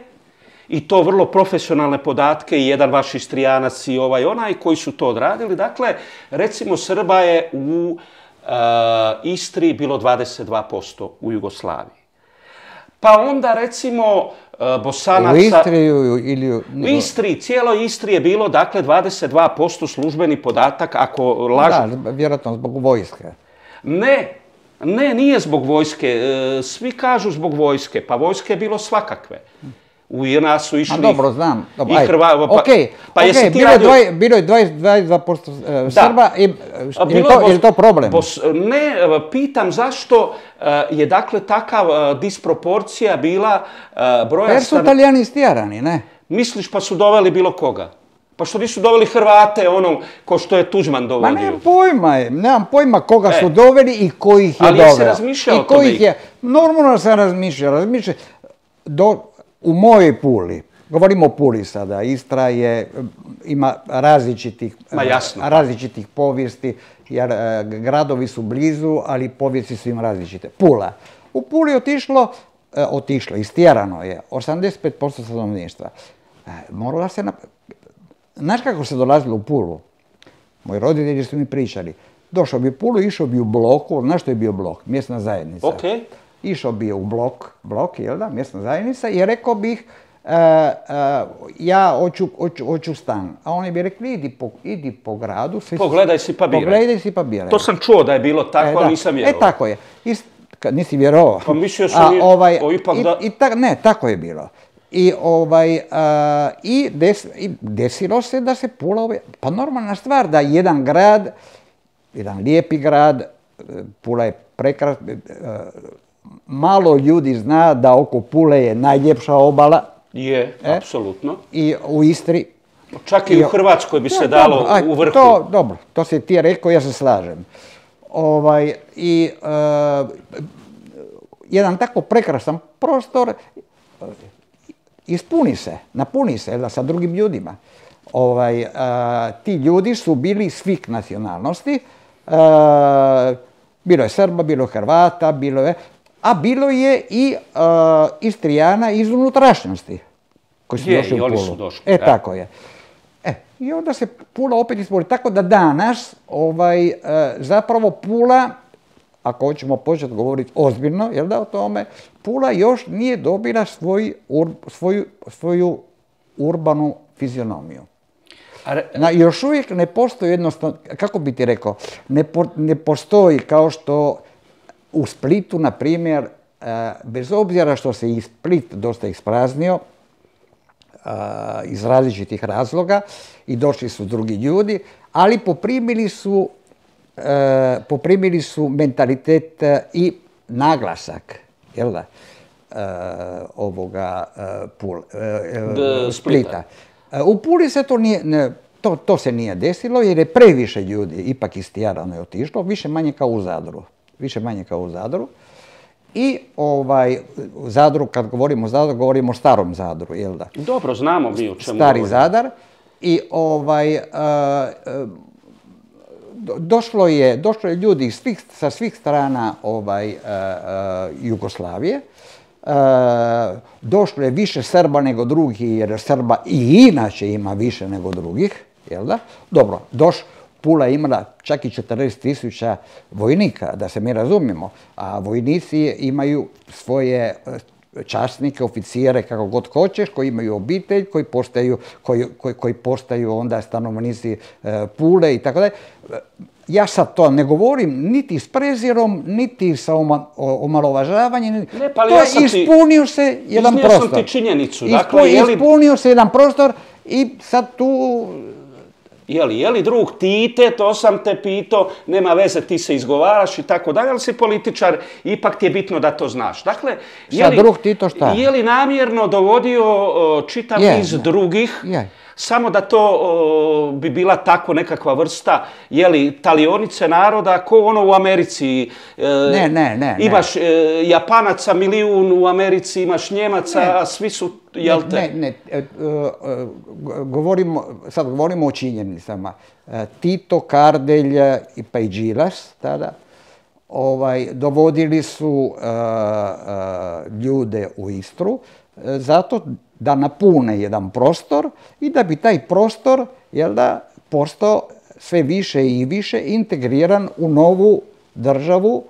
i to vrlo profesionalne podatke, i jedan vaš Istrijanac i onaj koji su to odradili. Dakle, recimo Srba je u Istri bilo 22% u Jugoslaviji. Pa onda recimo Bosanaca... U Istri ili... U Istri, cijeloj Istri je bilo, dakle, 22% službeni podatak, ako lažu... Da, vjerojatno zbog vojske. Ne, nije zbog vojske. Svi kažu zbog vojske, pa vojske je bilo svakakve. U nas su išli... dobro, znam. I Hrvati... Bilo je 22% Srba. Je li to problem? Ne, pitam zašto je dakle takav disproporcija bila broja... Jer su Italijani istjerani, ne? Misliš, pa su doveli bilo koga? Pa što nisu doveli Hrvate, ko što je Tuđman dovodio? Nemam pojma koga su doveli i ko ih je doveo. Ali jesi razmišljao o tome? Normalno sam razmišljao. U mojoj Puli, govorimo o Puli sada, Istra ima različitih povijesti, jer gradovi su blizu, ali povijesti su im različite. Pula. U Puli je istjerano je 85% stanovništva. Morala se... Znaš kako se dolazilo u Pulu? Moji roditelji su mi pričali. Došao bi u Pulu, išao bi u bloku, znaš što je bio blok? Mjesna zajednica. Okay. Išao bi u blok, jel da, mjesna zajednica, i rekao bih, ja hoću stan. A oni bi rekli, idi po gradu. Pogledaj si pa biraj. To sam čuo da je bilo tako, ali nisam vjerovao. Tako je. Nisi vjerovao. Pa mislio sam ipak da... Ne, tako je bilo. I desilo se da se Pula... Pa normalna stvar da jedan grad, jedan lijepi grad, Pula je prekrasna, malo ljudi zna da oko Pule je najljepša obala. Je, apsolutno. I u Istri. Čak i u Hrvatskoj bi se dalo u vrhu. Dobro, to si ti rekao, ja se slažem. Jedan tako prekrasan prostor napuni se sa drugim ljudima. Ti ljudi su bili svih nacionalnosti. Bilo je Srba, bilo je Hrvata, bilo je i Istrijana iz unutrašnjosti koji su došli u Pulu. Tako je. I onda se Pula opet ispori. Tako da danas zapravo Pula, ako hoćemo početi govoriti ozbiljno, jel da, o tome, Pula još nije dobila svoju urbanu fizionomiju. Još uvijek ne postoji jednostavno, kako bi ti rekao, ne postoji kao što u Splitu, na primjer, bez obzira što se i Split dosta ispraznio, iz različitih razloga, i došli su drugi ljudi, ali poprimili su mentalitet i naglasak, jel da, ovoga Splita. U Puli se to se nije desilo jer je previše ljudi ipak istjerano je otišlo, više manje kao u Zadru. I u Zadru, kad govorimo o Zadru, govorimo o starom Zadru, jel da? Dobro, znamo mi o čemu Stari Zadar. I došlo je ljudi sa svih strana Jugoslavije. Došlo je više Srba nego drugih, jer Srba i inače ima više nego drugih, jel da? Dobro, Pula je imala čak i 40.000 vojnika, da se mi razumijemo, a vojnici imaju svoje časnike, oficire, kako god hoćeš, koji imaju obitelj, koji postaju onda stanovnici Pule i tako dalje. Ja sad to ne govorim niti s prezirom, niti sa omalovažavanjem. Ispunio se jedan prostor. Iznio sam ti činjenicu. Ispunio se jedan prostor i sad tu... Je li drug Tite, to sam te pitao, nema veze, ti se izgovaraš i tako dalje, ali si političar, ipak ti je bitno da to znaš. Dakle, drug Tito šta? Je li namjerno dovodio čitav niz drugih, Samo da to bi bila tako nekakva vrsta, talionice naroda, ko ono u Americi. Ne. Imaš Japanaca milijun u Americi, imaš Njemaca, a svi su, jel te? Ne. Sad govorimo o činjenicama. Tito, Kardelj pa i Đilas tada dovodili su ljude u Istru zato da napune jedan prostor i da bi taj prostor postao sve više i više integriran u novu državu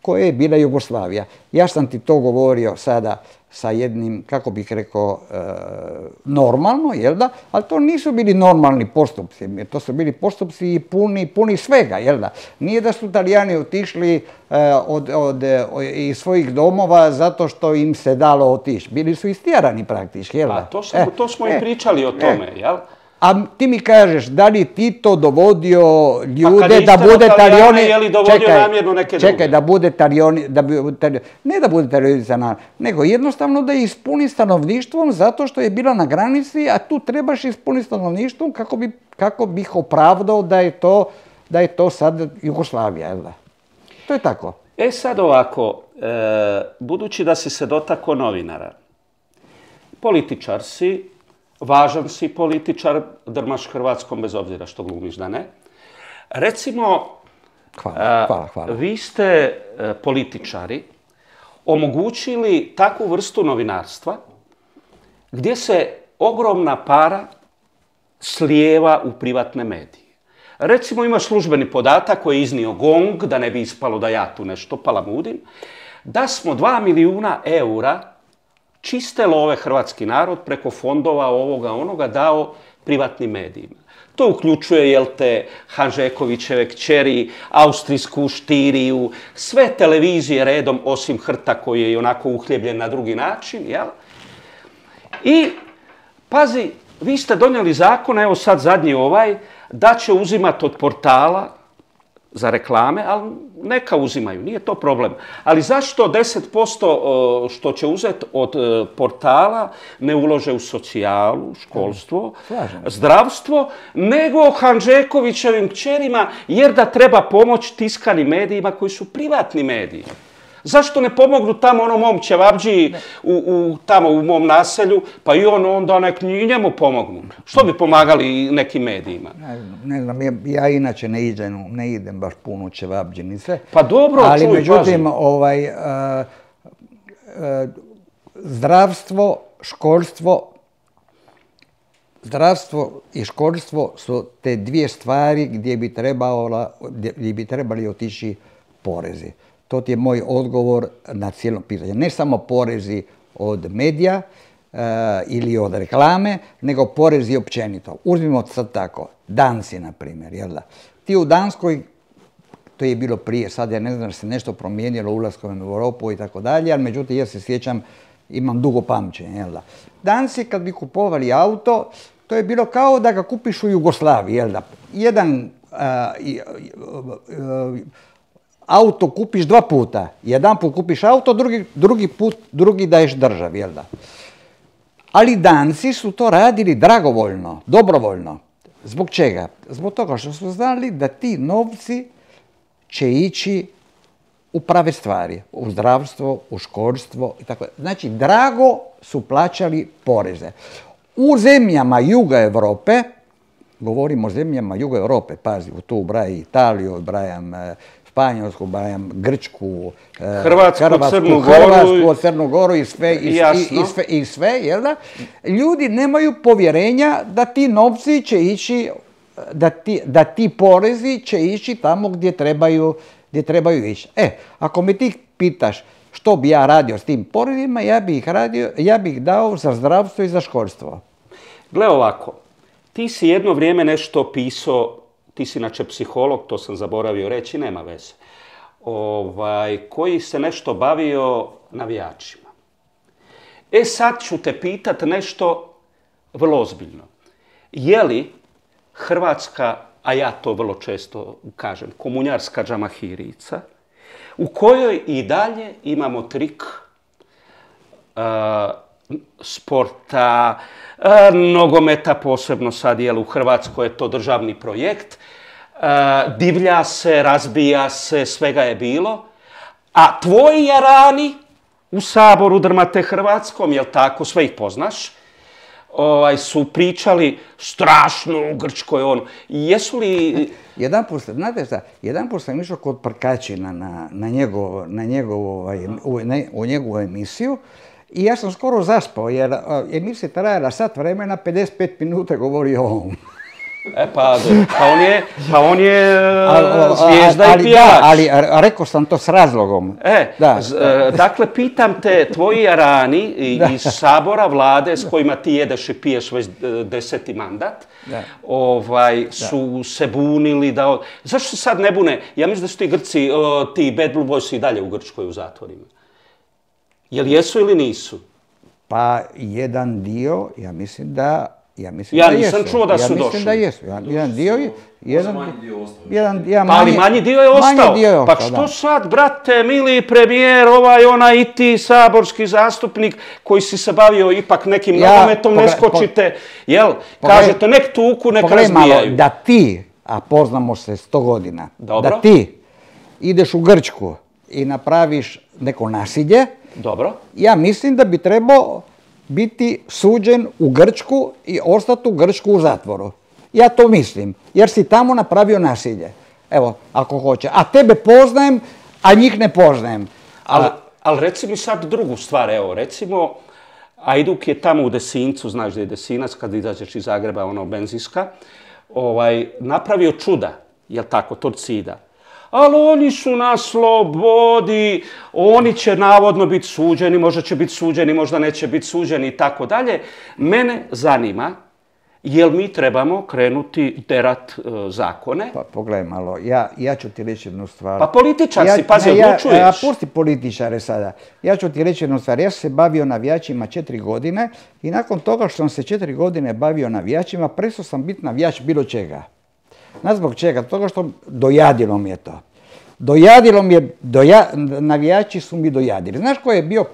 koja je bila Jugoslavija. Ja sam ti to govorio sada sa jednim, kako bih rekao, normalno, ali to nisu bili normalni postupci, to su bili postupci puni svega, Nije da su Talijani otišli iz svojih domova zato što im se dalo otići. Bili su istjerani praktički, A to smo i pričali o tome, jel? A ti mi kažeš, da li Tito dovodio ljude da bude Talijani... Je li dovodio namjerno neke druge? Čekaj, da bude Talijani... Ne da bude Talijani, nego jednostavno da ispuni stanovništvom zato što je bila na granici, a tu trebaš ispuniti stanovništvom kako bih opravdao da je to sad Jugoslavija, jel da? To je tako. Sad ovako, budući da si se dotakao novinara, političar si, važan si političar, drmaš Hrvatskom bez obzira što glumiš da ne. Recimo, Hvala. Vi ste političari omogućili takvu vrstu novinarstva gdje se ogromna para slijeva u privatne medije. Recimo imaš službeni podatak koji je iznio GONG, da ne bi ispalo da ja tu nešto palamudim, da smo 2 milijuna eura čiste love hrvatski narod preko fondova ovoga onoga dao privatnim medijima. To uključuje, Hanžekovićeve kćeri, austrijsku Štiriju, sve televizije redom osim Hrta koji je i onako uhljebljen na drugi način, I, pazi, vi ste donijeli zakon, evo sad zadnji da će uzimati od portala za reklame, ali neka uzimaju, nije to problem. Ali zašto 10% što će uzeti od portala ne ulože u socijalu, školstvo, zdravstvo, nego Hanžekovićevim kćerima, jer da treba pomoć tiskanim medijima koji su privatni mediji. Zašto ne pomognu tamo onom mom ćevabđiji tamo u mom naselju, pa i onda nek i njemu pomognu? Što bi pomagali nekim medijima? Ne znam, ja inače ne idem baš puno u ćevabđinice. Pa dobro, ali međutim, zdravstvo i školstvo su te dvije stvari gdje bi trebali otići porezi. To ti je moj odgovor na cijelo pitanje. Ne samo porezi od medija ili od reklame, nego porezi općenito. Uzmimo sad tako, Danci, na primjer, Ti u Danskoj, to je bilo prije, sad ja ne znam da se nešto promijenilo ulaskom u Europu i tako dalje, ali međutim ja se sjećam, imam dugo pamćenje, Danci kad bi kupovali auto, to je bilo kao da ga kupiš u Jugoslaviji, Jedan auto kupiš 2 puta. Jedan put kupiš auto, drugi daješ državi, Ali Danci su to radili dragovoljno, dobrovoljno. Zbog čega? Zbog toga što su znali da ti novci će ići u prave stvari, u zdravstvo, u školstvo i tako. Znači, drago su plaćali poreze. U zemljama juga Europe, govorimo o zemljama juga Europe, pazi, tu ubrajam Italiju, ubrajam Španjolsku, Grčku, Hrvatsku, Crnu Goru i sve, Ljudi nemaju povjerenja da ti novci će ići, da ti porezi će ići tamo gdje trebaju ići. Ako me ti pitaš što bi ja radio s tim porezima, ja bih dao za zdravstvo i za školstvo. Gle ovako, ti si jedno vrijeme nešto pisao, ti si inače psiholog, to sam zaboravio reći, nema veze, koji se nešto bavio navijačima. Sad ću te pitat nešto vrlo ozbiljno. Je li Hrvatska, a ja to vrlo često kažem, komunjarska džamahirica, u kojoj i dalje imamo trik sporta, nogometa posebno sad, u Hrvatskoj je to državni projekt. Divlja se, razbija se, svega je bilo. A tvoji jarani u Saboru drmate Hrvatskom, jel tako, sve ih poznaš, su pričali strašno u Grčkoj. Jesu li... Jedanput sam išao kod Prkačina u njegovu emisiju i ja sam skoro zaspao jer emisija trajala sat vremena, 55 minuta govorio o ovom. Pa on je zvijezda i pjevač. Ali rekao sam to s razlogom. Dakle, pitam te, tvoji jarani iz Sabora, vlade s kojima ti jedeš i piješ već 10. mandat, su se bunili da... Zašto se sad ne bune? Ja mislim da su ti Grci, ti Bad Blue Boys i dalje u Grčkoj u zatvorima. Jel jesu ili nisu? Pa jedan dio, ja mislim da ja nisam čuo da su došli. Ja mislim da jesu. Jedan dio ali manji dio je ostao. Pa što sad, brate, mili premijer, onaj i ti saborski zastupnik koji si se bavio ipak nekim nogometom, ne skočite, jel? Kažete, nek tuku, nek razbijaju. Da ti, a poznamo se 100 godina, da ti ideš u Grčku i napraviš neko nasilje, ja mislim da bi trebao biti suđen u Grčku i ostati u Grčku u zatvoru. Ja to mislim, jer si tamo napravio nasilje. Evo, ako hoće. A tebe poznajem, a njih ne poznajem. Ali reci mi sad drugu stvar, recimo, Ajduk je tamo u Desincu, znaš da je Desinac, kad izađeš iz Zagreba, benzinska, napravio čuda, jel tako, Torcida. Ali oni su na slobodi, oni će navodno biti suđeni, možda će biti suđeni, možda neće biti suđeni i tako dalje. Mene zanima, jel mi trebamo krenuti derat zakone? Pa pogledaj malo, ja ću ti reći jednu stvar. Pa političar si, pazi, odlučuješ. Pusti političare sada. Ja ću ti reći jednu stvar. Ja sam se bavio navijačima 4 godine i nakon toga što sam se 4 godine bavio navijačima, prestao sam biti navijač bilo čega. Znaš zbog čega? Toga što dojadilo mi je to. Navijači su mi dojadili. Znaš ko je bio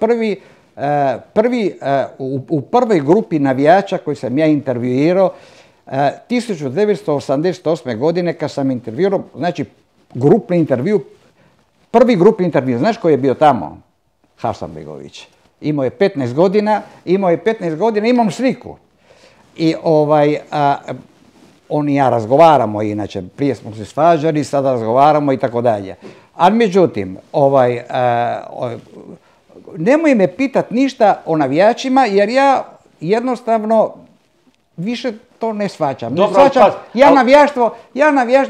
u prvoj grupi navijača koji sam ja intervjuirao 1988. godine kad sam intervjuirao, znači prvi grupni intervju. Znaš ko je bio tamo? Hasanbegović. Imao je 15 godina, imam sliku. I on i ja razgovaramo, inače, prije smo se svađali, sada razgovaramo i tako dalje. Ali međutim, nemoj me pitat ništa o navijačima, jer ja jednostavno više to ne shvaćam.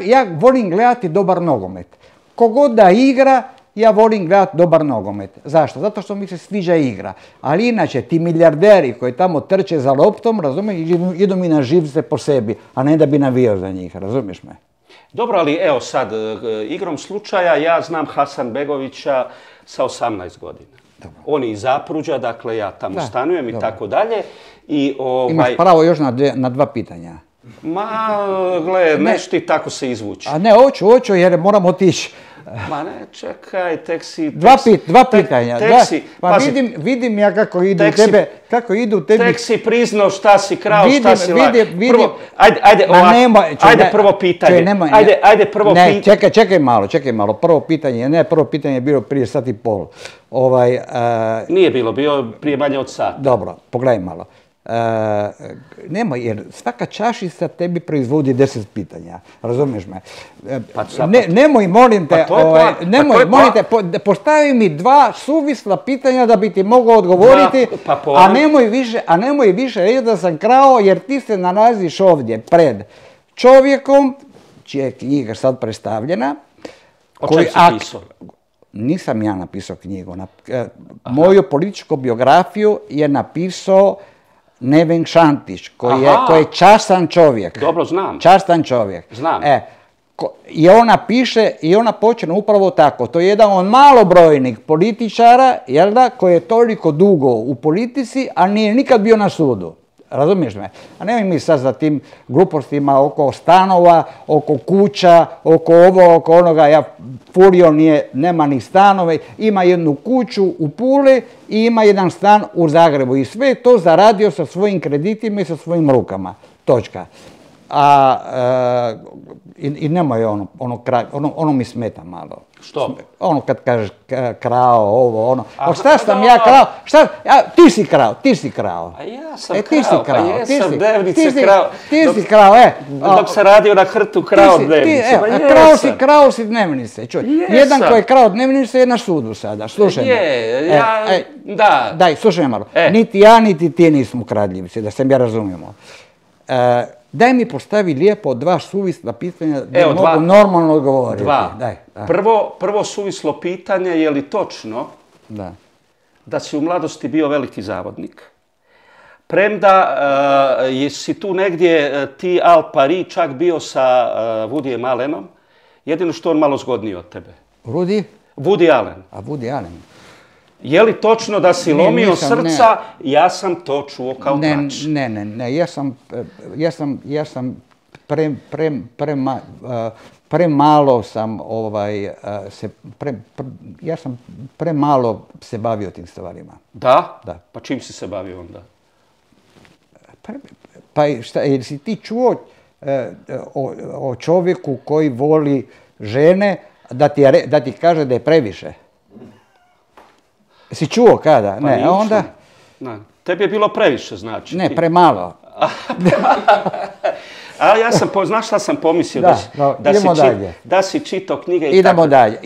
Ja volim gledati dobar nogomet. Kogod da igra, ja volim gledati dobar nogomet. Zašto? Zato što mi se sviđa igra. Ali inače, ti milijarderi koji tamo trče za loptom, razumiješ, idu mi na živce po sebi, a ne da bi navijao za njih, razumiješ me? Dobro, ali evo sad, igrom slučaja, ja znam Hasanbegovića sa 18 godina. Dobro. On je iz Zapruđa, dakle ja tamo stanujem i tako dalje. Imaš pravo još na 2 pitanja. Gle, neš ti tako se izvući. A ne, hoću jer moram otići. Ma ne, čekaj, tek si... Dva pitanja. Pa vidim ja kako idu u tebi... Tek si priznao šta si krao, šta si lak. Ajde prvo pitanje. Ajde prvo pitanje. Čekaj malo. Prvo pitanje je bilo prije sat i pol. Nije bilo, bio prije manje od sata. Dobro, pogledaj malo. Nemoj, jer svaka čašica tebi proizvodi 10 pitanja, razumiješ me? Nemoj, molim te, postavi mi 2 suvisla pitanja da bi ti mogao odgovoriti, a nemoj više reći da sam krao, jer ti se nalaziš ovdje pred čovjekom, čija je knjiga sad predstavljena. O čem si pisao? Nisam ja napisao knjigu. Moju političku biografiju je napisao Neven Šantić, koji je častan čovjek. Dobro, znam. Častan čovjek. Znam. I ona piše, i ona počne upravo tako. To je jedan od malobrojnih političara, jel da, koji je toliko dugo u politici, a nije nikad bio na sudu. Razumiješ me? A nemoj mi sad za tim glupostima oko stanova, oko kuća, oko ovo, oko onoga. Furio nema ni stanove, ima jednu kuću u Puli i ima jedan stan u Zagrebu. I sve to zaradio sa svojim kreditima i sa svojim rukama. Točka. I nemoj ono mi smeta malo. Što? Ono kad kažeš krao, ovo, ono. A šta sam ja krao? Ti si krao. A ja sam krao, pa jesam dnevnice krao. Ti si krao, Dok sam radio na Hrtu, krao dnevnice. Krao si dnevnice. Jedan koji je krao dnevnice je na sudu sada, slušaj me. Da. Daj, slušaj malo. Niti ja, niti ti nismo kradljivci, da se mi razumijemo. Daj mi postavi lijepo 2 suvisla pitanja da mogu normalno odgovoriti. 2. Prvo suvislo pitanje, je li točno da si u mladosti bio veliki zavodnik? Premda jesi tu negdje ti Al Pari čak bio sa Woodyjem Allenom, jedino što on malo zgodniji od tebe. Woody Allen. A Woody Allen. Je li točno da si lomio srca? Ja sam to čuo kao trač. Ne, ja sam premalo sam ja sam premalo se bavio tim stvarima. Da? Da. Pa čim si se bavio onda? Pa šta, jesi ti čuo o čovjeku koji voli žene da ti kaže da je previše? Si čuo kada? Pa ne, onda... Ne. Tebi je bilo previše, znači. Ne, premalo. A ja sam, znaš šta sam pomislio? Da si čitao knjige i idemo dalje.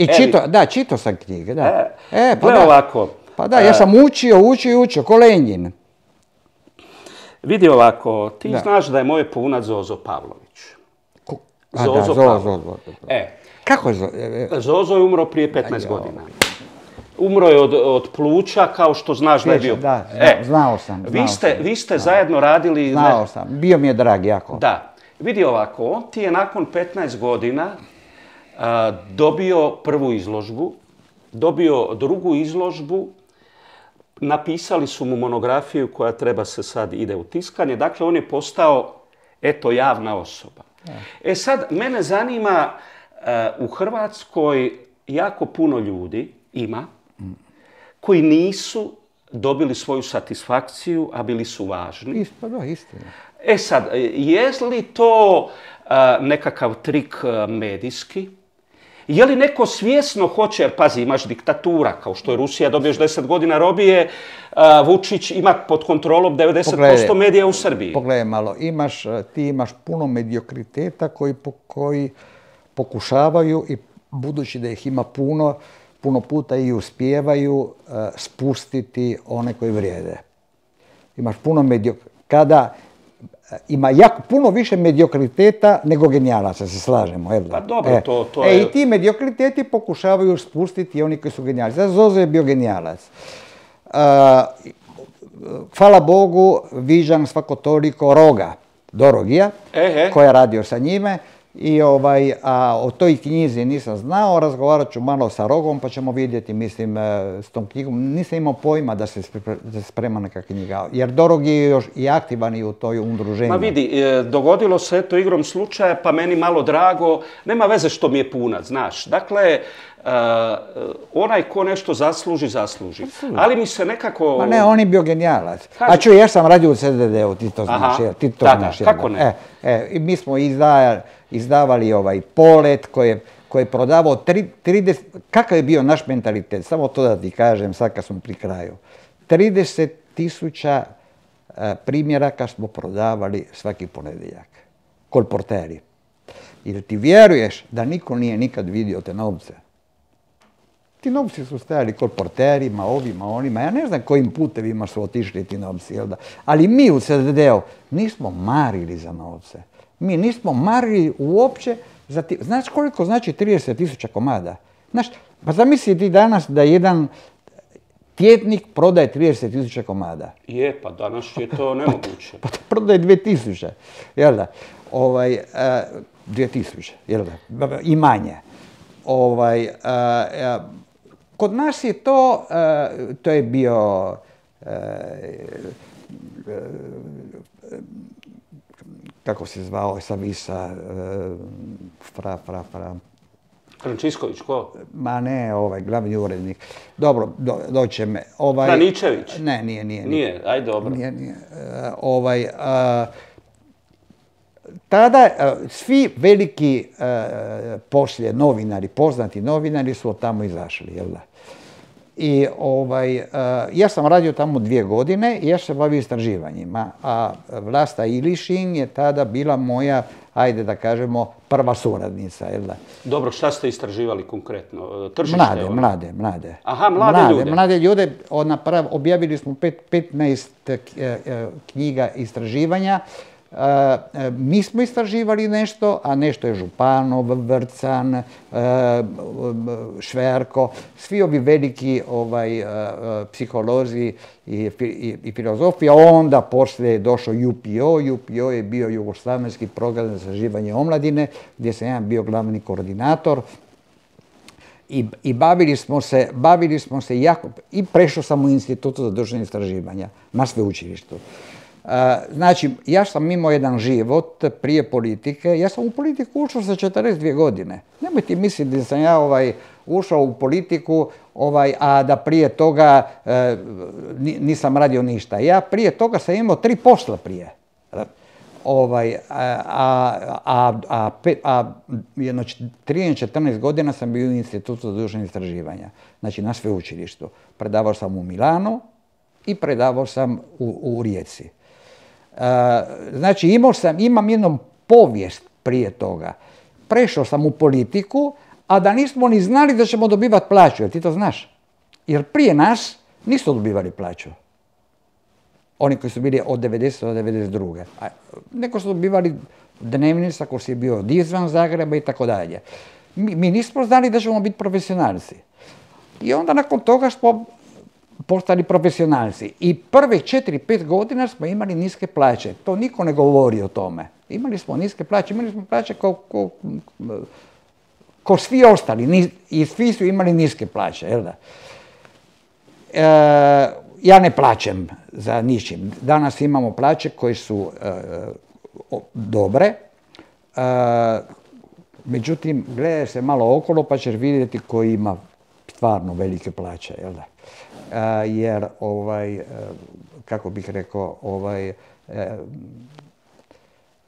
Čitao sam knjige, da. Gle ovako. Pa da, ja sam učio, ko Lenjin. Vidi ovako, ti znaš da je moj punac Zozo Pavlović. Zozo Pavlović. Kako je Zozo? Zozo je umro prije 15 godina. Umro je od pluća, kao što znaš da je bio. Da, znao sam. Vi ste zajedno radili... Znao sam, bio mi je drag jako. Da. Vidi ovako, on ti je nakon 15 godina dobio prvu izložbu, dobio drugu izložbu, napisali su mu monografiju koja treba se sad ide u tiskanje. Dakle, on je postao, javna osoba. Sad, mene zanima, u Hrvatskoj jako puno ljudi ima koji nisu dobili svoju satisfakciju, a bili su važni. Istina. Sad, je li to nekakav trik medijski? Je li neko svjesno hoće, jer pazi, imaš diktatura, kao što je Rusija, dobiješ 10 godina robije, Vučić ima pod kontrolom 90% medija u Srbiji. Pogledaj malo, ti imaš puno mediokriteta koji pokušavaju, i budući da ih ima puno puta i uspijevaju spustiti one koji vrijede. Imaš puno kada ima jako puno više mediokriteta nego genijalaca, se slažemo. Pa dobro, to je... I ti mediokriteti pokušavaju spustiti oni koji su genijalci. Sad Zozo je bio genijalac. Hvala Bogu, viđam svako toliko Roga, Dorogija, koji je radio sa njime. A o toj knjizi nisam znao, razgovarat ću malo sa Rogom pa ćemo vidjeti, mislim, s tom knjigom. Nisam imao pojma da se sprema neka knjiga, jer Dorog je još i aktivan i u toj udruženju. Ma vidi, dogodilo se to igrom slučaja, pa meni malo drago, nema veze što mi je punac, znaš. Dakle, onaj ko nešto zasluži. Ali mi se nekako... Ma ne, on je bio genijalac. A čuj, ja sam radio u CDD-u, ti to znaš. Da, kako ne? I mi smo izdavali Polet koji je prodavao 30... Kakav je bio naš mentalitet? Samo to da ti kažem sad kad smo pri kraju. 30.000 primjeraka smo prodavali svaki ponedjeljak. Kolporteri. Jer ti vjeruješ da niko nije nikad vidio te novce? Ti novci su stajali kolporterima, ovima, onima. Ja ne znam kojim putevima su otišli ti novci, jel da? Ali mi u CDD-u nismo marili za novce. Mi nismo marili uopće za ti... Znaš koliko znači 30.000 komada? Znaš, pa zamisli ti danas da jedan tjednik prodaje 30.000 komada. Pa danas je to nemoguće. Pa prodaje 2.000, jel da? 2.000, jel da? I manje. Kod nas je to je bio kako se zvao sa Visa, Frančisković, ko? Ma ne, glavni urednik. Dobro, doće me. Franičević? Ne, nije. Nije, aj dobro. Nije. Tada svi veliki poslije novinari, poznati novinari su od tamo izašli, jel da? I ja sam radio tamo 2 godine i ja se bavio istraživanjima, a Vlasta Ilišin je tada bila moja, ajde da kažemo, prva suradnica, jel da? Dobro, šta ste istraživali konkretno? Tržište? Mlade. Aha, mlade ljude. Mlade ljude, objavili smo 15 knjiga istraživanja. Mi smo istraživali nešto, a nešto je Županov, Vrcan, Šverko, svi ovi veliki psiholozi i filozofi, a onda poslije je došao UPO. UPO je bio Jugoslavenski program za istraživanje omladine, gdje sam ja bio glavni koordinator. I bavili smo se jako, i prešao sam u Institutu za društvena istraživanja na sveučilištu. Znači, ja sam imao jedan život prije politike. Ja sam u politiku ušao sa 42 godine. Nemojte misliti da sam ja ušao u politiku, a da prije toga nisam radio ništa. Ja prije toga sam imao 3 posla prije. Jedno 13-14 godina sam bio u Institutu za društvena istraživanja. Znači, na sveučilištu. Predavao sam u Milanu i predavao sam u Rijeci. Znači, imam jednu povijest prije toga. Prešao sam u politiku, a da nismo ni znali da ćemo dobivati plaću, jer ti to znaš. Jer prije nas nisu dobivali plaću. Oni koji su bili od 90. do 92. Neko su dobivali dnevnica ko si je bio izvan Zagreba i tako dalje. Mi nismo znali da ćemo biti profesionalci. I onda nakon toga smo postali profesionalci. I prve 4-5 godina smo imali niske plaće. To niko ne govori o tome. Imali smo niske plaće ko svi ostali. I svi su imali niske plaće. Jel da? Ja ne plaćem za ničim. Danas imamo plaće koje su dobre. Međutim, gledaj se malo okolo pa ćeš vidjeti koji ima stvarno velike plaće. Jel da? Jer, kako bih rekao,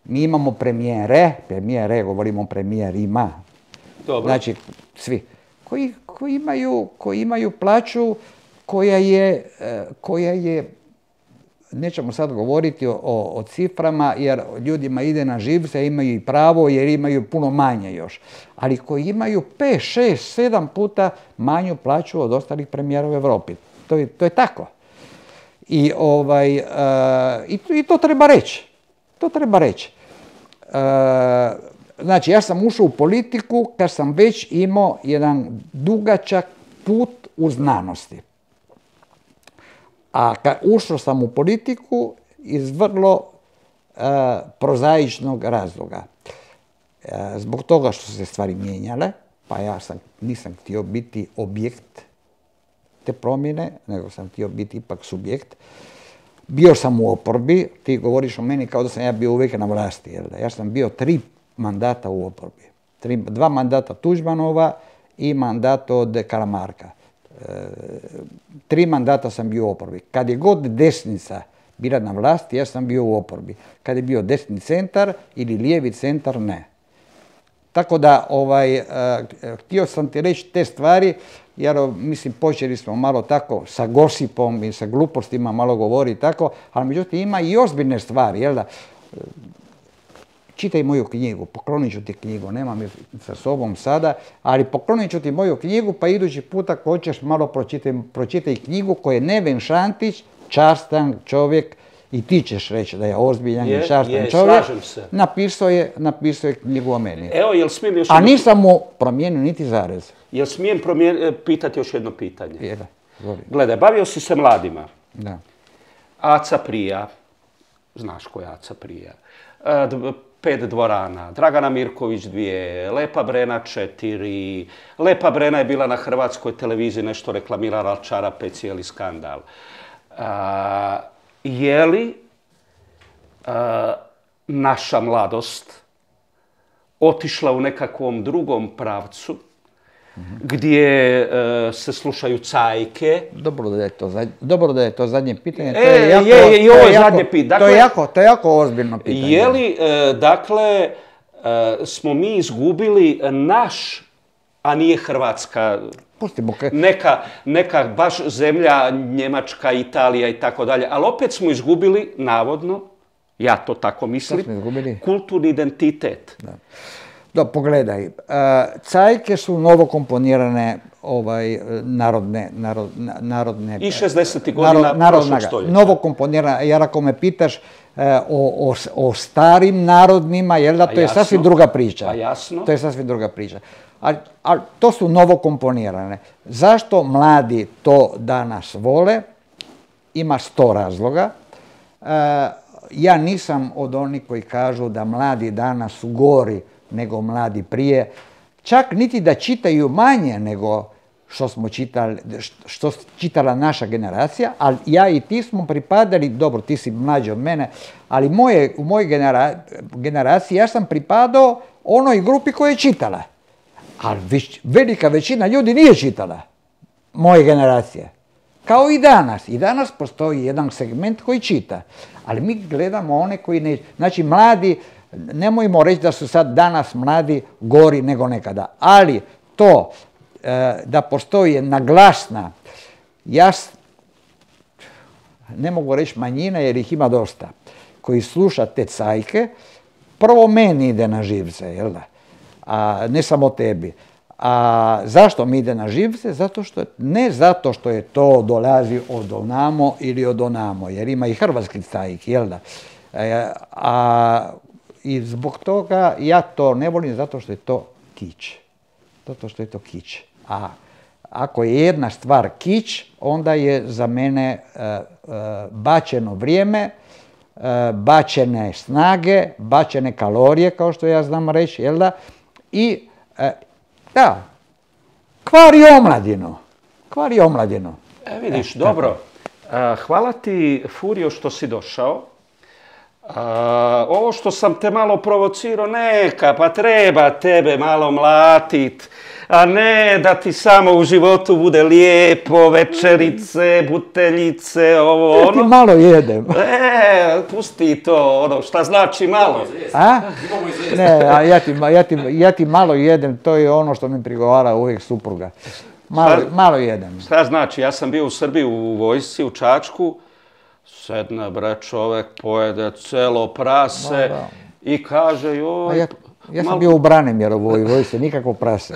mi imamo premijere, govorimo o premijerima, znači svi, koji imaju plaću koja je, nećemo sad govoriti o ciframa, jer ljudima ide na živce, imaju i pravo jer imaju puno manje još, ali koji imaju 5, 6, 7 puta manju plaću od ostalih premijera u Europi. To je tako. I to treba reći. To treba reći. Znači, ja sam ušao u politiku kad sam već imao jedan dugačak put u znanosti. A kad ušao sam u politiku iz vrlo prozaičnog razloga. Zbog toga što su se stvari mijenjale, pa ja nisam htio biti objekt te promjene, nego sam htio biti ipak subjekt. Bio sam u oporbi, ti govoriš o meni kao da sam ja bio uvijek na vlasti. Jel? Ja sam bio 3 mandata u oporbi. 2 mandata Tuđmanova i mandat od Karamarka. 3 mandata sam bio u oporbi. Kad je god desnica bila na vlasti, ja sam bio u oporbi. Kad je bio desni centar ili lijevi centar, ne. Tako da, htio sam ti reći te stvari, jer mislim počeli smo malo tako sa gosipom i sa glupostima malo govoriti tako, ali međutim ima i ozbiljne stvari, jel da? Čitaj moju knjigu, poklonit ću ti knjigu, nemam je sa sobom sada, ali poklonit ću ti moju knjigu, pa idući puta ako hoćeš malo pročitaj knjigu koju je Neven Šantić, častan čovjek, i ti ćeš reći da je ozbiljan i častan čovjek, napisao je knjigu o meni. Evo, jel smijem još a nisam mu promijenio niti zarez. Jel smijem pitati još jedno pitanje? Da. Gledaj, bavio si se mladima. Da. Aca Prija, znaš ko je Aca Prija, 5 dvorana, Dragana Mirković 2, Lepa Brena 4, Lepa Brena je bila na hrvatskoj televiziji, nešto reklamirala, čarape, cijeli skandal. je li naša mladost otišla u nekakvom drugom pravcu, gdje se slušaju cajke. Dobro da je to zadnje pitanje. I ovo je zadnje pitanje. To je jako ozbiljno pitanje. Je li, dakle, smo mi izgubili naš, a nije Hrvatska, neka baš zemlja, Njemačka, Italija i tako dalje, ali opet smo izgubili, navodno, ja to tako mislim, kulturni identitet. Da, pogledaj, cajke su novokomponirane narodne... I 60. godina prošlog stoljeća. Novokomponirane, jer ako me pitaš o starim narodnima, jel da, to je sasvim druga priča. Pa jasno. To je sasvim druga priča. Ali to su novokomponirane. Zašto mladi to danas vole? Ima 100 razloga. Ja nisam od onih koji kažu da mladi danas su gori nego mladi prije. Čak niti da čitaju manje nego što čitala naša generacija, ali ja i ti smo pripadali, dobro, ti si mlađi od mene, ali u mojoj generaciji ja sam pripadao onoj grupi koja je čitala. Ali velika većina ljudi nije čitala, moje generacije. Kao i danas. I danas postoji jedan segment koji čita. Ali mi gledamo one koji ne... Znači, mladi, nemojmo reći da su sad danas mladi gori nego nekada. Ali to da postoji jedna glasna, ne mogu reći manjina jer ih ima dosta, koji sluša te cajke, prvo meni ide na živce, jel da? A ne samo tebi. A zašto mi ide na živce? Ne zato što je to dolazi od onamo ili od onamo, jer ima i hrvatski cajk, jel da? I zbog toga ja to ne volim zato što je to kič. Zato što je to kič. A ako je jedna stvar kič, onda je za mene bačeno vrijeme, bačene snage, bačene kalorije, kao što ja znam reći, jel da? I da, kvari omladinu. Vidiš, dobro. Hvala ti, Furio, što si došao. Ovo što sam te malo provocirao, neka, pa treba tebe malo mlatit, a ne da ti samo u životu bude lijepo, večerice, buteljice, ovo, ono. Ja ti malo jedem. Pusti to, ono, šta znači malo? A? Ne, ja ti malo jedem, to je ono što mi prigovara uvijek supruga. Malo jedem. Šta znači? Ja sam bio u Srbiji u vojsci, u Čačku, sedne bre čovek, pojede celo prase i kaže joj... Ja sam bio u Branimjerovoj vojsci, nikako prase.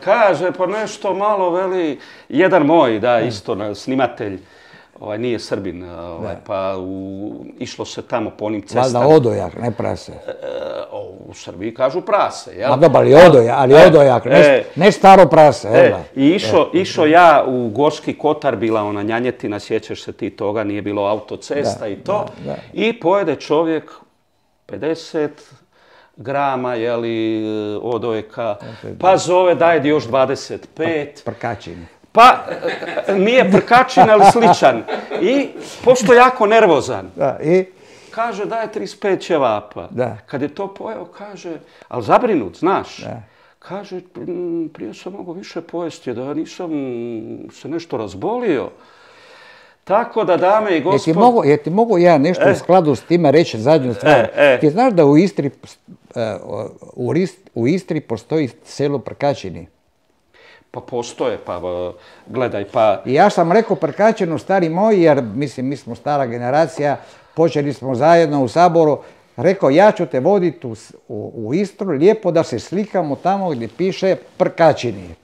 Kaže, pa nešto malo veli, jedan moj, da, isto snimatelj, nije Srbin, pa išlo se tamo po onim cestama. Valjda odojak, ne prase. U Srbiji kažu prase, jel? Ma dobro, ali odojak, ne staro prase. I išao ja u Gorski Kotar, bila ona Njanjetina, sjećaš se ti toga, nije bilo autocesta i to. I pojede čovjek 50 grama, jeli, odojka, pa zove daj još 25. Prkačin. Pa, nije prkačin, ali sličan. I, pošto je jako nervozan, kaže daj 35 ćevapa. Kad je to pojeo, kaže, ali zabrinut, znaš, kaže, prije sam mogao više pojesti, da nisam se nešto razbolio. Tako da, dame i gospodo... Jer ti mogu ja nešto u skladu s time reći zadnju stvar. Ti znaš da u Istri postoji selo Prkačini? Pa postoje, pa gledaj, pa... Ja sam rekao Prkačinu, stari moj, jer mislim, mi smo stara generacija, počeli smo zajedno u Saboru, rekao ja ću te voditi u Istru, lijepo da se slikamo tamo gdje piše Prkačini.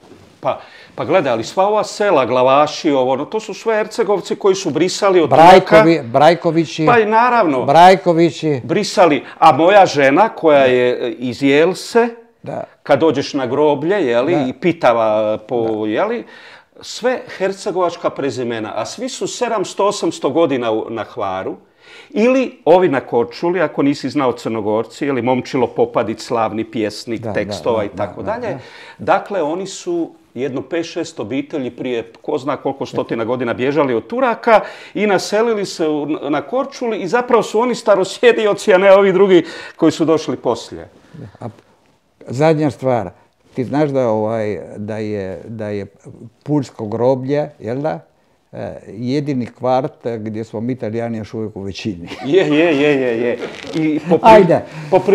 Pa gledaj, ali sva ova sela, Glavaši, to su sve Hercegovci koji su brisali od Turaka. Brajkovići. Pa i naravno. Brajkovići. Brisali. A moja žena koja je iz Jelse, kad dođeš na groblje, jeli, i pitava po, jeli, sve hercegovačka prezimena, a svi su 700-800 godina na Hvaru, ili ovi na Korčuli, ako nisi znao Crnogorci, ili Momčilo Popadić, slavni pjesnik tekstova i tako dalje. Dakle, oni su jedno 5-6 obitelji prije ko zna koliko stotina godina bježali od Turaka i naselili se na Korčuli i zapravo su oni starosjedioci, a ne ovi drugi koji su došli poslije. Zadnja stvar, ti znaš da je Puljsko groblje, jel da? Jedini kvart gdje smo mi Italijani još uvijek u većini. Je. Ajde,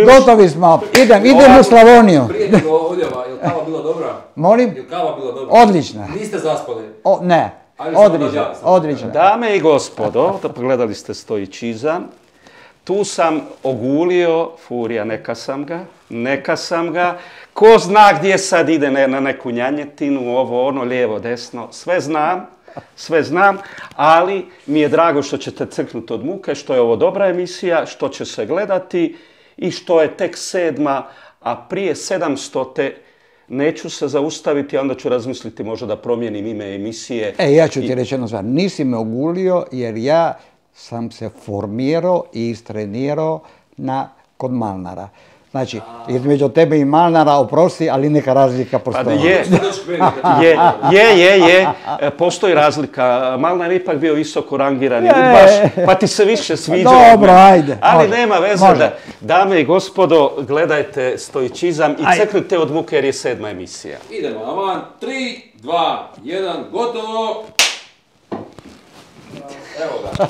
gotovi smo, idem u Slavoniju. Prijatelj Odjava, je li kava bila dobra? Molim? Je li kava bila dobra? Odlična. Niste zaspali? Ne, odlična. Dame i gospodo, pogledali ste stoičizam. Tu sam ogulio, Furija, neka sam ga. Ko zna gdje sad ide na neku njanjetinu, ovo, ono, lijevo, desno, sve znam, ali mi je drago što ćete crknuti od muke, što je ovo dobra emisija, što će se gledati i što je tek 7. a prije 700. neću se zaustaviti, a onda ću razmisliti možda da promijenim ime emisije. Ja ću ti reći jednu stvar, nisi me ogulio jer ja sam se formirao i istrenirao kod Malnara. Znači, između tebe i Malnara, oprosti, ali neka razlika postoji. Je. Postoji razlika. Malnar je ipak bio visoko rangirani udbaš, pa ti se više sviđa. Dobro, ajde. Ali nema veze. Dame i gospodo, gledajte stoičizam i crknite od muke jer je 7. emisija. Idemo, aman, 3, 2, 1, gotovo! Evo ga.